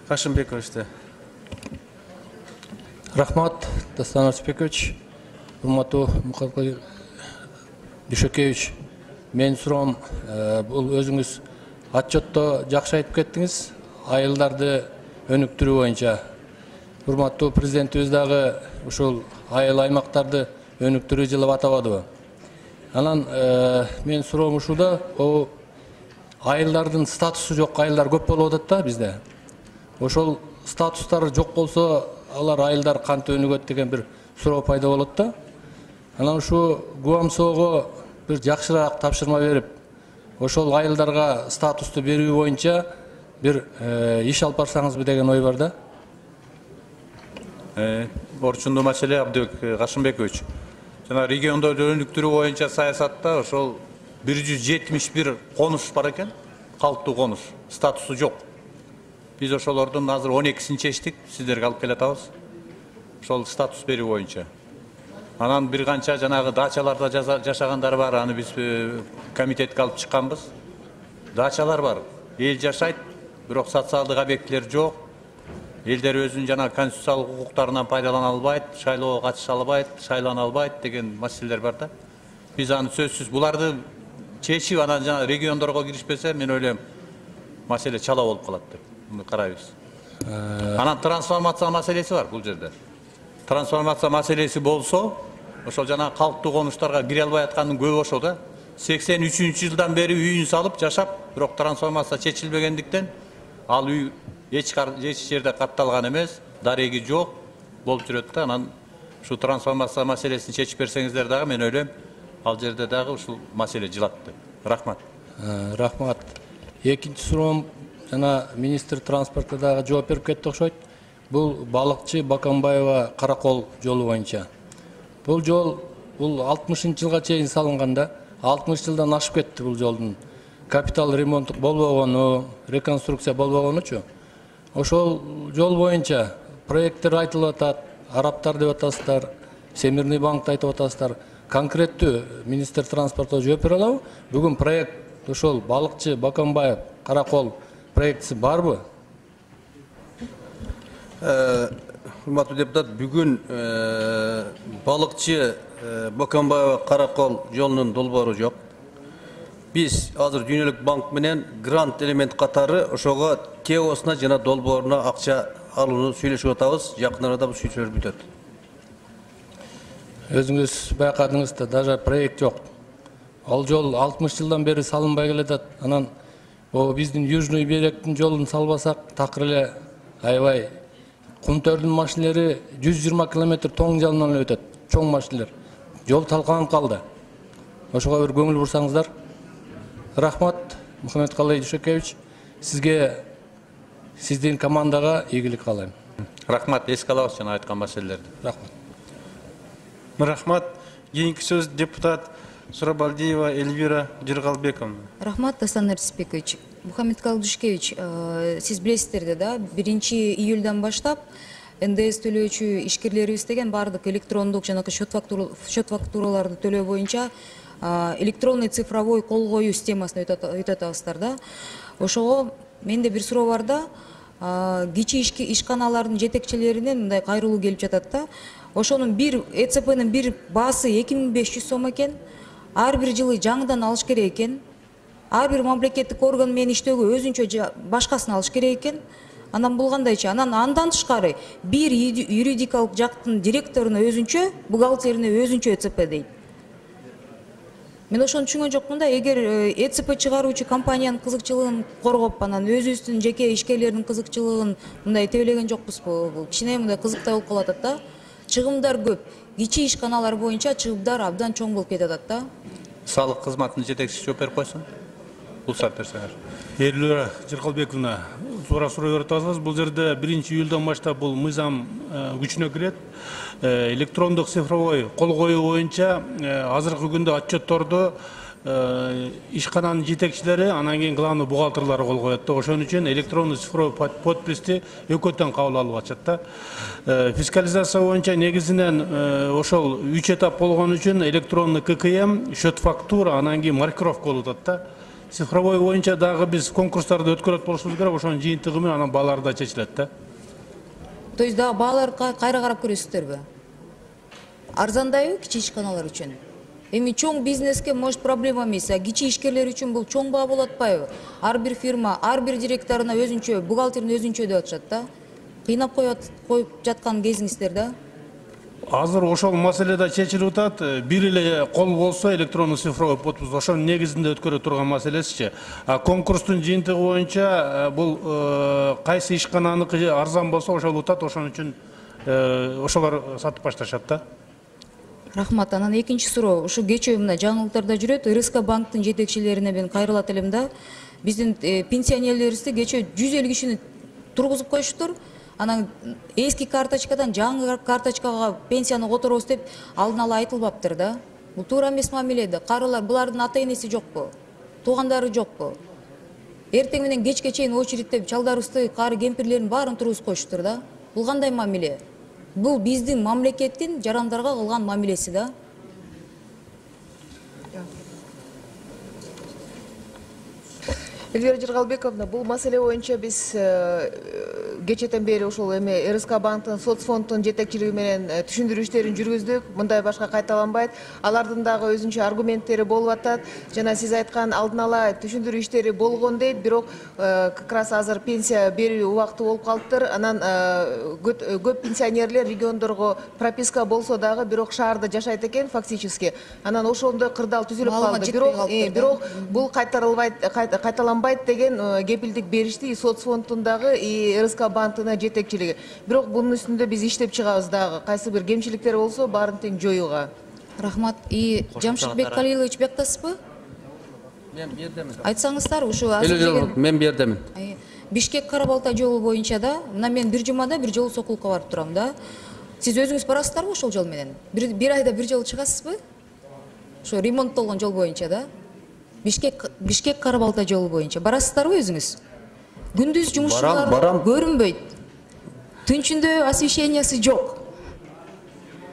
Кашымбековичте. Рахмат, Дастан Арсбекович. Урматтуу Мукаткалый Дүйшөкевич. Мен суроом, бул өзүңүз отчетто жакшы айтып кеттиңиз. Айылдарды өнүктүрүү боюнча. Урматтуу президентибиз дагы ушул айыл аймактарды өнүктүрүү жылы атабадыбы? Анан мен суроом ушуда, айылдардын статусу жок айылдар көп болуп атат да бизде. Ошол статустары жок болсо, алар айылдар кантип өнүгөт деген бир суроо пайда болот да. Анан ушу ГУАМСОго бир жакшыраак тапшырма берип, ошол айылдарга статусту берүү боюнча бир иш алып барсаңызбы деген ой бар да. Орчундуу маселе, Абдыбек Кашымбекович. Жана региондорду өнүктүрүү боюнча саясатта ошол бир жүз жетимиш бир конуш бар экен, калктуу конуш, статусу жок. Биз ошолордун азыр он экисин чечтик, сиздерге алып келатабыз. Ошол статус берүү боюнча. Анан бир канча жанагы дачаларда жашагандар бар, аны биз комитетке алып чыкканбыз. Дачалар бар, эл жашайт, бирок социалдык объектилер жок. Элдер өзүнүн жана конституциялык укуктарынан пайдалана албайт, шайлоого катыша албайт, шайлана албайт деген маселелер бар да. Биз аны сөзсүз буларды чечип, анан жана региондорго киришпесе, мен ойлойм, маселе чала болуп калат деп карайбыз. Анан трансформация маселеси бар бул жерде. Трансформация маселеси болсо, ошол жана калктуу конуштарга кире албай аткандын көбү ошол да. сексен үчүнчү жылдан бери үйүн салып жашап, бирок трансформация чечилбегендиктен ал үй эч эч жерде катталган эмес, дареги жок болуп жүрөт да. Анан ушу трансформация маселесин чечип берсеңиздер дагы мен ойлойм, ал жерде дагы ушул маселе жылат деп. Рахмат. Рахмат. Экинчи суроом жана министр транспортко дагы жооп берип кетти окшойт. Бул балыкчы Бакамбаева Каракол жолу боюнча. Бул жол бул алтымышынчы жылга чейин салынган да. алтымыш жылдан ашып кетти бул жолдун. Капитал ремонт болбогону, реконструкция болбогонучу. Ошол жол боюнча проекттер айтылып атат, арабтар деп атасыздар, Всемирный банкты айтып атасыздар. Конкреттүү министр транспортко жооп бере алабы? Бүгүн проект ошол балыкчы Бакамбаев Каракол проектиси барбы? Урматтуу депутат, бүгүн балыкчы Бакамбаева Каракол жолунун долбоору жок. Биз азыр Дүйнөлүк банк менен грант элемент катары ошого теосуна жана долбооруна акча алууну сүйлөшүп атабыз. Жакын арада бул сүйлөшүүлөр бүтөт. Өзүңүз байкадыңыз да, даже проект жок. Ал жол алтымыш жылдан бери салынбай келатат. Анан о биздин Южный беректин жолун салбасак, такыр эле аябай кумтөрдүн машинелери жүз жыйырма километр тоң жалынан эле өтөт. Чоң машинелер. Жол талкаланып калды. Ошого бир көңүл бурсаңыздар. Рахмат, Мухаммедкалый Дүйшөкевич. Сизге, сиздин командага ийгилик каалайм. Рахмат, эске алабыз жана айткан маселелерди. Рахмат. Рахмат. Кийинки сөз депутат Сурабалдиева Эльвира Жыргалбековна. Рахмат, Дастан Артисбекович. Мухаммедкалый Дүйшөкевич, сиз билесиздер да, биринчи июльдан баштап эн дэ эс төлөөчү ишкерлерибиз деген баардык электрондук жанагы счет фактураларды төлөө боюнча электронный цифровой кол коюу системасына өтө атабыздар да. Ошого менде бир суроо бар да, кичи ишканалардын жетекчилеринен мындай кайрылуу келип жатат да. Ошонун бир э цэ пэнин бир баасы эки миң беш жүз сом экен. Ар бир жылы жаңыдан алыш керек экен. Ар бир мамлекеттик орган менен иштөөгө өзүнчө башкасын алыш керек экен. Анан бул кандайчы? Анан андан тышкары бир юридикалык жактын директоруна өзүнчө, бухгалтерине өзүнчө э цэ пэ дейт. Мен ошону түшүнгөн жокмун да, эгер э цэ пэ чыгаруучу компаниянын кызыкчылыгын коргоп, анан өзүбүздүн жеке ишкерлердин кызыкчылыгын мындай тебелеген жокпузбу? Бул кичине мындай кызыктай болуп калат да. Чыгымдар көп. Кичи ишканалар боюнча чыгымдар абдан чоң болуп кетет да. Салык кызматынын жетекчиси жооп берип койсун. Булсап берсеңер. Эльвира Жыргалбековна, суроо суроо берип атасыз. Бул жерде биринчи июлдан баштап бул мыйзам күчүнө кирет. Электрондук цифровой кол коюу боюнча азыркы күндө отчетторду ишкананын жетекчилери, анан кийин главный бухгалтерлары кол коет да. Ошон үчүн электронный цифровой подписти экөөтөн кабыл алып атышат да. Фискализация боюнча негизинен ошол үч этап болгон үчүн электронный ка ка эм, счет фактура, анан кийин маркировка болуп атат да. Цифровой боюнча дагы биз конкурстарды өткөрөт болушубуз керек, ошонун жыйынтыгы менен анан баалар да чечилет да. То есть дагы бааларга кайра карап көрөсүздөрбү? Арзандайбы кичи ишканалар үчүн? Эми чоң бизнеске может проблема эмес, а кичи ишкерлер үчүн бул чоң баа болуп атпайбы? Ар бир фирма, ар бир директоруна өзүнчө, бухгалтерине өзүнчө деп атышат да. Кыйнап коюп жаткан кезиңиздер да. Азыр ошол маселе да чечилип атат. Бир эле кол болсо электронный цифровой подпись ошонун негизинде өткөрө турган маселесичи. А конкурстун жыйынтыгы боюнча бул кайсы ишкананыкы арзан болсо ошол утат, ошон үчүн ошолор сатып башташат да. Рахмат. Анан экинчи суроо, ушу кечээ мына жаңылыктарда жүрөт, эр эс ка банктын жетекчилерине мен кайрылат элем да. Биздин пенсионерлерибизди кечээ жүз элүү кишини тургузуп коюштур. Анан эски карточкадан жаңы карточкага пенсияны которобуз деп алдын ала айтылбаптыр да. Бул туура эмес мамиле да. Карылар, булардын ата энеси жокпу? Туугандары жокпу? Эртең менен кечке чейин очередте чалдарыбызды, кары кемпирлердин баарын тургузуп коюштур да. Бул кандай мамиле? Бул биздин мамлекеттин жарандарга кылган мамилеси да. Эльвира Жыргалбековна, бул маселе боюнча биз кечэтен бери ушул эме РСК банктын соцфонддун жетекчилиги менен түшүндүрүү иштерин жүргүздүк. Мындай башка кайталанбайт. Алардын дагы өзүнчө аргументтери болуп атат. Жана сиз айткан алдын ала түшүндүрүү иштери болгон дейт, бирок как раз азыр пенсия берүү убакыты болуп калыптыр. Анан көп пенсионерлер региондорго прописка болсо дагы бирок шаарда жашайт экен фактически. Анан ошондой кырдаал түзүлүп калды. Бирок бирок бул кайтарылбайт, кайталанбайт деген кепилдик беришти и соцфонддун дагы и РСК банктын жетекчилиги. Бирок бунун үстүндө биз иштеп чыгабыз дагы. Кайсы бир кемчиликтер болсо баарын тең жоюуга. Рахмат. И Жамшитбек Калилович бияктасызбы? Мен бердемин. Айтсаңыздар, ушу азыр мен бердемин. Бишкек Кара-Балтай жолу боюнча да, мына мен бир жумада бир жолу Сокулукка барып турам да. Сиз өзүңүз барасыздарбы ошол жол менен? Бир айда бир жолу чыгасызбы? Ошо ремонттолгон жол боюнча да. Бишкек Бишкек Кара-Балтай жолу боюнча барасыздарбы өзүңүз? Күндүз жумушчулар көрүнбөйт. Түнчүндө освещениясы жок.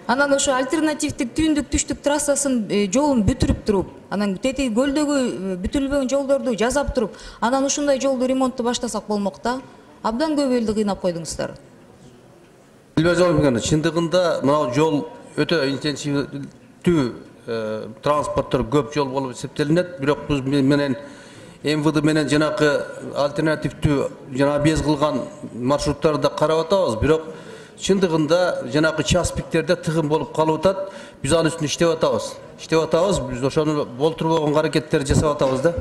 Анан ошо альтернативдик түндүк түштүк трассасын жолун бүтүрүп туруп, анан тети көлдөгү бүтүлбөгөн жолдорду жазап туруп, анан ушундай жолду ремонтту баштасак болмок да. Абдан көп элди кыйнап койдуңуздар. Чындыгында мына жол өтө интенсивдүү транспорттор көп жол болуп эсептелинет, бирок биз менен МВД менен жанакы альтернативдүү жана без кылган маршруттарды карап атабыз, бирок чындыгында жанакы частиктерде тыгын болуп калып атат. Биз анын үстүндө иштеп атабыз. Иштеп атабыз, биз ошону болтурбогон аракеттерди жасап атабыз да.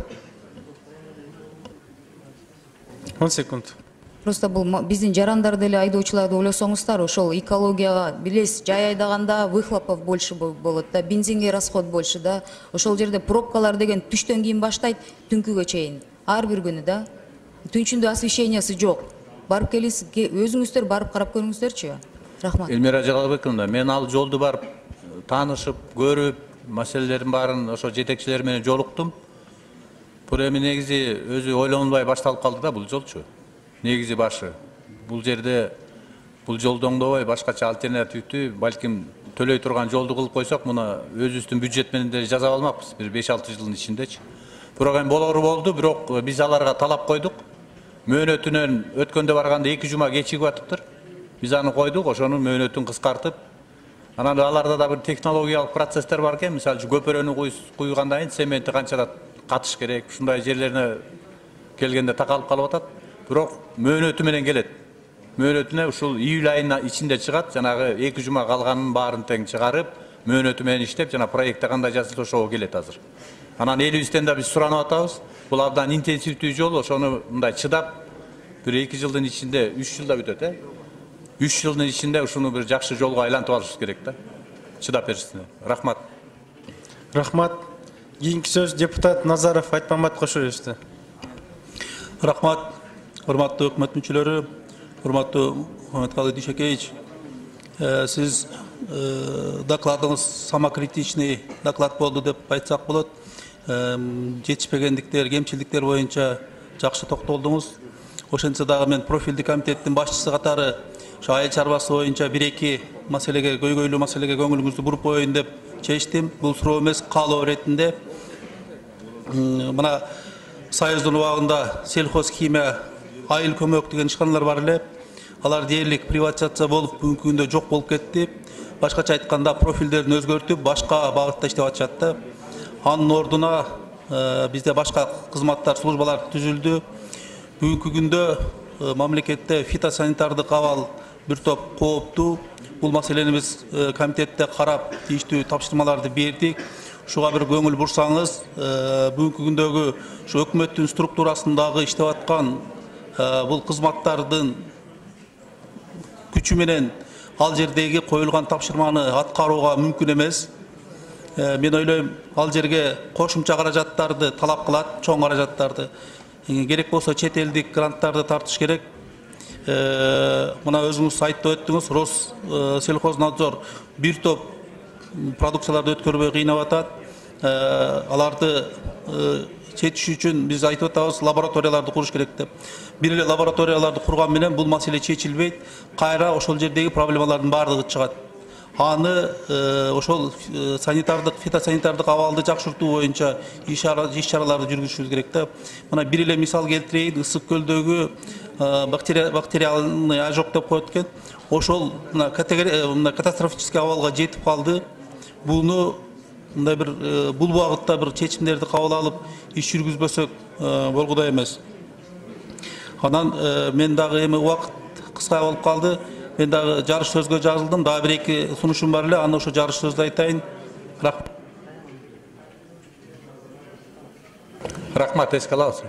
он секунд. Просто бул биздин жарандар деле айдоочуларды ойлосоңуздар, ошол экологияга билесиз, жай айдаганда выхлопов больше болот да, бензинге расход больше да. Ошол жерде пробкалар деген түштөн кийин баштайт, түнкүгө чейин. Ар бир күнү да. Түнчүндө освещениясы жок. Барып келесиз, өзүңүздөр барып карап көрүңүздөрчү. Рахмат. Элмира Жалалбековна, мен ал жолду барып таанышып, көрүп, маселелердин баарын ошо жетекчилер менен жолуктум. Бул эми негизи өзү ойлонбай башталып калды да бул жолчу. Негизи башы. Бул жерде бул жолду оңдобой башкача альтернативдүү, балким төлөй турган жолду кылып койсок, муну өзүбүздүн бюджет менен деле жасап алмакпыз бир беш алты жылдын ичиндечи. Бирок эми болору болду, бирок биз аларга талап койдук. Мөөнөтүнөн өткөндө барганда эки жума кечигип атыптыр. Биз аны койдук, ошонун мөөнөтүн кыскартып. Анан аларда да бир технологиялык процесстер бар экен. Мисалы үчүн көпөрөнү куйгандан кийин цементи канчада катыш керек, ушундай жерлерине келгенде такалып калып атат. Бирок мөөнөтү менен келет. Мөөнөтүнө ушул июль айынын ичинде чыгат, жанагы эки жума калганын баарын тең чыгарып, мөөнөтү менен иштеп, жана проектте кандай жазылса ошого келет азыр. Анан элибизден да биз суранып атабыз. Бул абдан интенсивдүү жол, ошону мындай чыдап, бир эки жылдын ичинде, үч жылда бүтөт, э? үч жылдын ичинде ушуну бир жакшы жолго айлантып алышыбыз керек да. Чыдап беришсине. Рахмат. Рахмат. Кийинки сөз депутат Назаров Айтмамат кошо беришти. Рахмат. Урматтуу өкмөт мүчөлөрү, урматтуу Мухаммедкалый Дүйшөкеевич, сиз докладыңыз самокритичный доклад болду деп айтсак болот. Жетишпегендиктер, кемчилдиктер боюнча жакшы токтолдуңуз. Ошентсе дагы мен профилдик комитеттин башчысы катары ошо айыл чарбасы боюнча бир эки маселеге, көйгөйлүү маселеге көңүлүңүздү буруп коеюн деп чечтим. Бул суроо эмес, каалоо иретинде. Мына Союздун убагында сельхоз химия, айыл көмөк деген ишканалар бар эле. Алар дээрлик приватизация болуп, бүгүнкү күндө жок болуп кетти. Башкача айтканда профилдерин өзгөртүп, башка багытта иштеп атышат да. Анын ордуна бизде башка кызматтар, службалар түзүлдү. Бүгүнкү күндө мамлекетте фитосанитардык абал бир топ кооптуу. Бул маселени биз комитетте карап, тийиштүү тапшырмаларды бердик. Ушуга бир көңүл бурсаңыз, бүгүнкү күндөгү ушу өкмөттүн структурасындагы иштеп аткан бул кызматтардын күчү менен ал жердеги коюлган тапшырманы аткарууга мүмкүн эмес. Мен ойлойм, ал жерге кошумча каражаттарды талап кылат, чоң каражаттарды. Керек болсо чет элдик гранттарды тартыш керек. Мына өзүңүз айтып өттүңүз, Россельхознадзор бир топ продукцияларды өткөрбөй кыйнап атат. Аларды чечиш үчүн биз айтып атабыз, лабораторияларды куруш керек деп. Бир эле лабораторияларды курган менен бул маселе чечилбейт. Кайра ошол жердеги проблемалардын баардыгы чыгат. аны ошол санитардык, фитосанитардык абалды жакшыртуу боюнча иш чараларды жүргүзүшүбүз керек да. Мына бир эле мисал келтирейин, Ысык көлдөгү бактериальный ожог деп коет экен. Ошол мына катастрофический абалга жетип калды. Буну мындай бир бул багытта бир чечимдерди кабыл алып иш жүргүзбөсөк болгудай эмес. Анан мен дагы эми убакыт кыска болуп калды. Мен дагы жарыш сөзгө жазылдым. Дагы бир эки сунушум бар эле. Аны ошо жарыш сөздү айтайын. Рахмат. Рахмат, эске алабыз.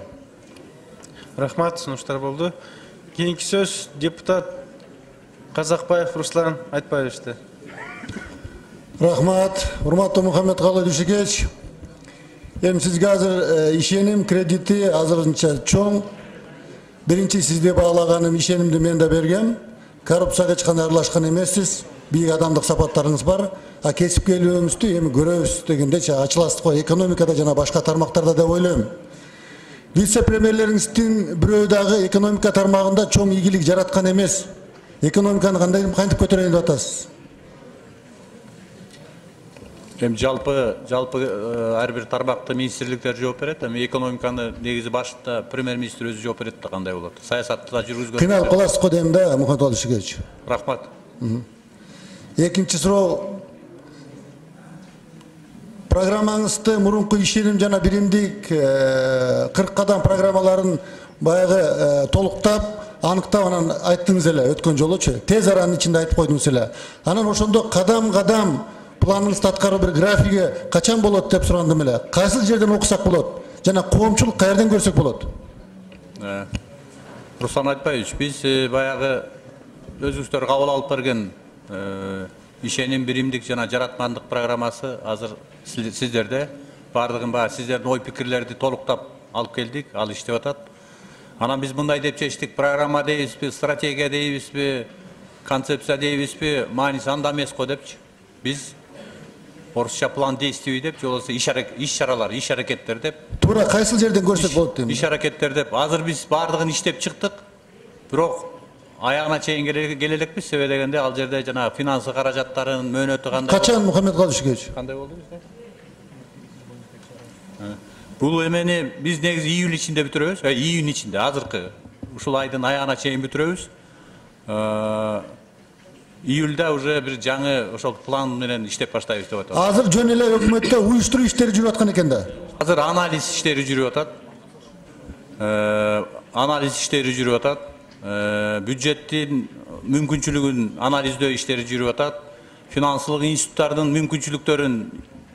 Рахмат, сунуштар болду. Кийинки сөз депутат Казакбаев Руслан Айтбаевичте. Рахмат, урматтуу Мухаммедкалы Дүйшекевич. Эми сизге азыр ишеним кредити азырынча чоң. Биринчи сизде баалаганым ишенимди мен да бергем. Коррупцияга эч кандай аралашкан эмессиз. Бийик адамдык сапаттарыңыз бар. А кесипкерлигиңизди эми көрөбүз дегендечи ачыласыз го экономикада жана башка тармактарда деп ойлойм. Вице-премьерлериңиздин бирөө дагы экономика тармагында чоң ийгилик жараткан эмес. Экономиканы кандай кантип көтөрөйүн деп атасыз? Эми жалпы жалпы ар бир тармакта министрликтер жооп берет. Эми экономиканы негизи башында премьер-министр өзү жооп берет да кандай болот. Саясатты да жүргүзгөн. Кыйналып каласыз го дейм да, Мухаммедкалы Дүйшекевич. Рахмат. Экинчи суроо. Программаңызды мурунку ишеним жана биримдик кырк кадам программаларын баягы толуктап, аныктап анан айттыңыз эле өткөн жолучу. Тез аранын ичинде айтып койдуңуз эле. Анан ошондо кадам-кадам планыңызды аткаруу бир графиги качан болот деп сурандым эле. Кайсы жерден окусак болот? Жана коомчулук каерден көрсөк болот? Руслан Айтбаевич, биз баягы өзүңүздөр кабыл алып берген ишеним биримдик жана жаратмандык программасы азыр сиздерде. Бардыгын баягы сиздердин ой пикирлерди толуктап алып келдик, ал иштеп атат. Анан биз мындай деп чечтик, программа дейбизби, стратегия дейбизби, концепция дейбизби, мааниси анда эмес го депчи. Биз орусча план действий деп, же болбосо иш чаралар, иш аракеттер деп. Туура кайсы жерден көрсөк болот дейм. Иш аракеттер деп. Азыр биз бардыгын иштеп чыктык. Бирок аягына чейин келе элекпиз, себеби дегенде ал жерде жана финансы каражаттарын мөөнөтү кандай. Качан Мухаммедкалы Дүйшекевич? Кандай болду бизде? Бул эмени биз негизи июль ичинде бүтүрөбүз, июнь ичинде, азыркы ушул айдын аягына чейин бүтүрөбүз. Июльда уже бир жаңы ошол план менен иштеп баштайбыз деп атат. Азыр жөн эле өкмөттө уюштуруу иштери жүрүп аткан экен да. Азыр анализ иштери жүрүп атат. Анализ иштери жүрүп атат. Бюджеттин мүмкүнчүлүгүн анализдөө иштери жүрүп атат. Финансылык институттардын мүмкүнчүлүктөрүн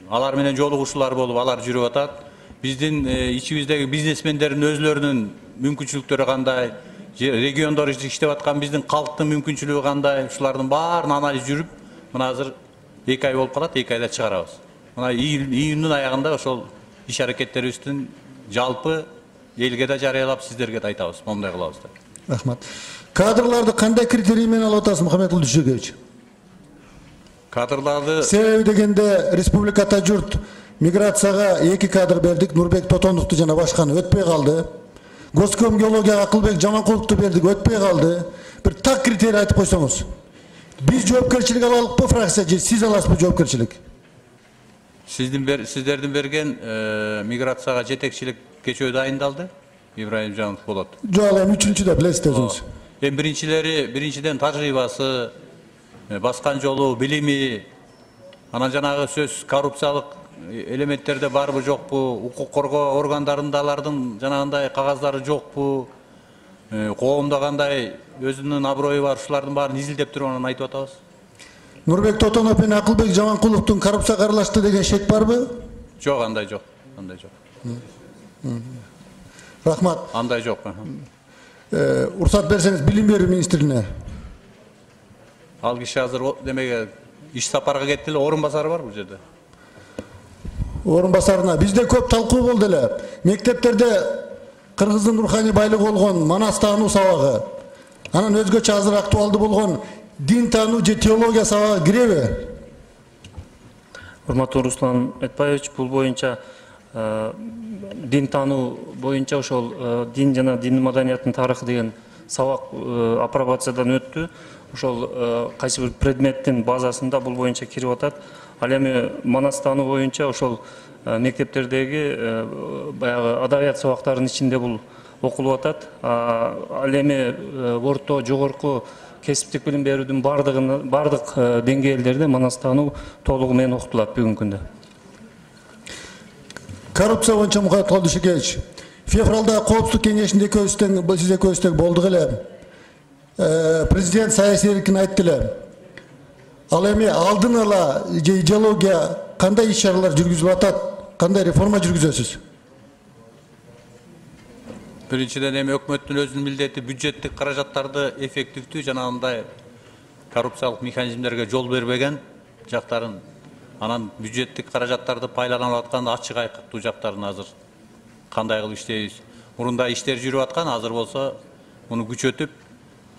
алар менен жолугушуулар болуп алар жүрүп атат. Биздин ичибиздеги бизнесмендердин өзлөрүнүн мүмкүнчүлүктөрү кандай, региондор иштеп аткан биздин калктын мүмкүнчүлүгү кандай, ушулардын баарын анализ жүрүп, мына азыр эки ай болуп калат, эки айда чыгарабыз. Мына июндун аягында ошол иш аракеттерибиздин жалпы элге да жарыялап, сиздерге да айтабыз, момундай кылабыз деп. Рахмат. Кадрларды кандай критерий менен алып атасыз, Мухаммедкалы Дүйшекевич? Кадрларды себеби дегенде республикада журт миграцияга эки кадр бердик, Нурбек Тотоновду жана башканы өтпөй калды. Госком геологияга Акылбек Жаманкуловду бердик, өтпөй калды. Бир так критерий айтып койсоңуз. Биз жоопкерчилик алалыкпы фракция же сиз аласызбы жоопкерчилик? Сиздин сиздердин берген миграцияга жетекчилик кечөө дайындалды. Ибраим Жанов болот. Жок, эми үчүнчүдө билесиз өзүңүз. Эми биринчилери, биринчиден тажрыйбасы, баскан жолу, билими, анан жанагы сөз коррупциялык элементтерде барбы жокпу, укук коргоо органдарында алардын жанагындай кагаздары жокпу, коомдо кандай өзүнүн аброю бар, ушулардын баарын изилдеп туруп анан айтып атабыз. Нурбек Тотонов менен Акылбек Жаманкуловдун коррупцияга аралашты деген шек барбы? Жок, андай жок, андай жок. Рахмат. Андай жок. Уруксат берсеңиз, билим берүү министрине. Ал киши азыр демеге иш сапарга кетти эле, орун басары бар бул жерде. Орун басарына бизде көп талкуу болду эле. Мектептерде кыргыздын руханий байлыгы болгон Манас таануу сабагы, анан өзгөчө азыр актуалдуу болгон дин таануу же теология сабагы киреби? Урматтуу Руслан Айтбаевич, бул боюнча дин таануу боюнча ошол дин жана дин маданияттын тарыхы деген сабак апробациядан өттү. Ошол кайсы бир предметтин базасында бул боюнча кирип атат. Ал эми Манастануу боюнча ошол мектептердеги баягы адабият сабактарынын ичинде бул окулуп атат. Ал эми орто, жогорку кесиптик билим берүүдүн бардыгын бардык деңгээлдерде Манастануу толугу менен окутулат бүгүнкү күндө. Коррупция боюнча Мухаммед Дүйшөкевич, февралда коопсуздук кеңешинде экөөбүздөн сиз экөөбүздөн болдук эле. Президент саясий эркин айтты эле. Ал эми алдын ала идеология кандай иш-чаралар жүргүзүлүп атат, кандай реформа жүргүзөсүз? Биринчиден эми өкмөттүн өзүнүн милдети бюджеттик каражаттарды эффективдүү жана андай коррупциялык механизмдерге жол бербеген жактарын, анан бюджеттик каражаттарды пайдаланып аткан ачык айкыктуу жактарын азыр кандай кылып иштейбиз? Мурунда иштер жүрүп аткан, азыр болсо муну күчөтүп,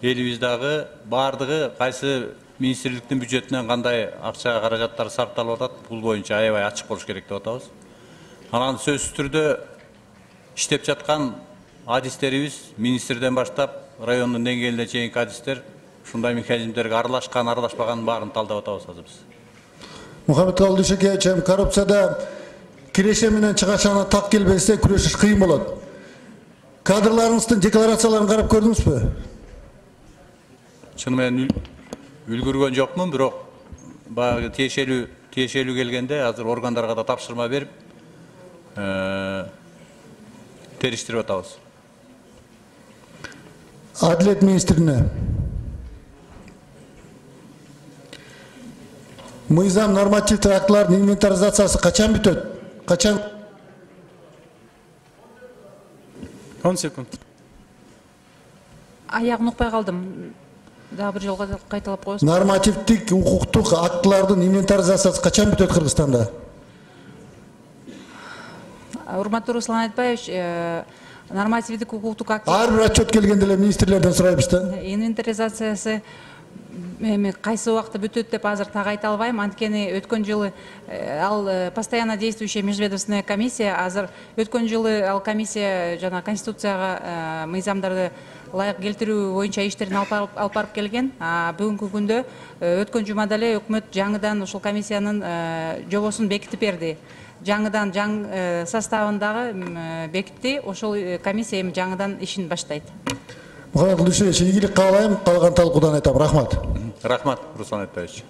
элибиздагы бардыгы кайсы министрликтин бюджетинен кандай акча каражаттар сарпталып атат, бул боюнча аябай ачык болуш керек деп атабыз. Анан сөзсүз түрдө иштеп жаткан адистерибиз министрден баштап райондун деңгээлине чейинки адистер ушундай механизмдерге аралашкан, аралашпаганын баарын талдап атабыз азыр биз. Мухаммед Дүйшөкевич, коррупцияда киреше менен чыгашана так келбесе күрөшүш кыйын болот. Кадрларыңыздын декларацияларын карап көрдүңүзбү? Чыны менен үлгүргөн жокмун, бирок баягы тиешелүү тиешелүү келгенде азыр органдарга да тапшырма берип, териштирип атабыз. Адилет министрине. Мыйзам нормативдик актылардын инвентаризациясы качан бүтөт? Качан? он секунд. Аягын укпай калдым. Дагы бир жолго кайталап коесуз. Нормативдик укуктук актылардын инвентаризациясы качан бүтөт Кыргызстанда? Урматтуу Руслан Айтбаевич, нормативдик укуктук актылар ар бир отчет келгенде эле министрлерден сурайбыз да. Инвентаризациясы эми кайсы убакта бүтөт деп азыр так айта албайм. Анткени өткөн жылы ал постоянно действующая межведомственная комиссия, азыр өткөн жылы ал комиссия жана конституцияга мыйзамдарды лайык келтирүү боюнча иштерин алып барып келген. Бүгүнкү күндө өткөн жумада эле өкмөт жаңыдан ушул комиссиянын жобосун бекитип берди. Жаңыдан жаң составындагы бекитти. Ошол комиссия эми жаңыдан ишин баштайт. Мухаммед Дүйшөкевич, ийгилик каалайм, калган талкуудан айтам. Рахмат. Рахмат, Руслан Айтбаевич.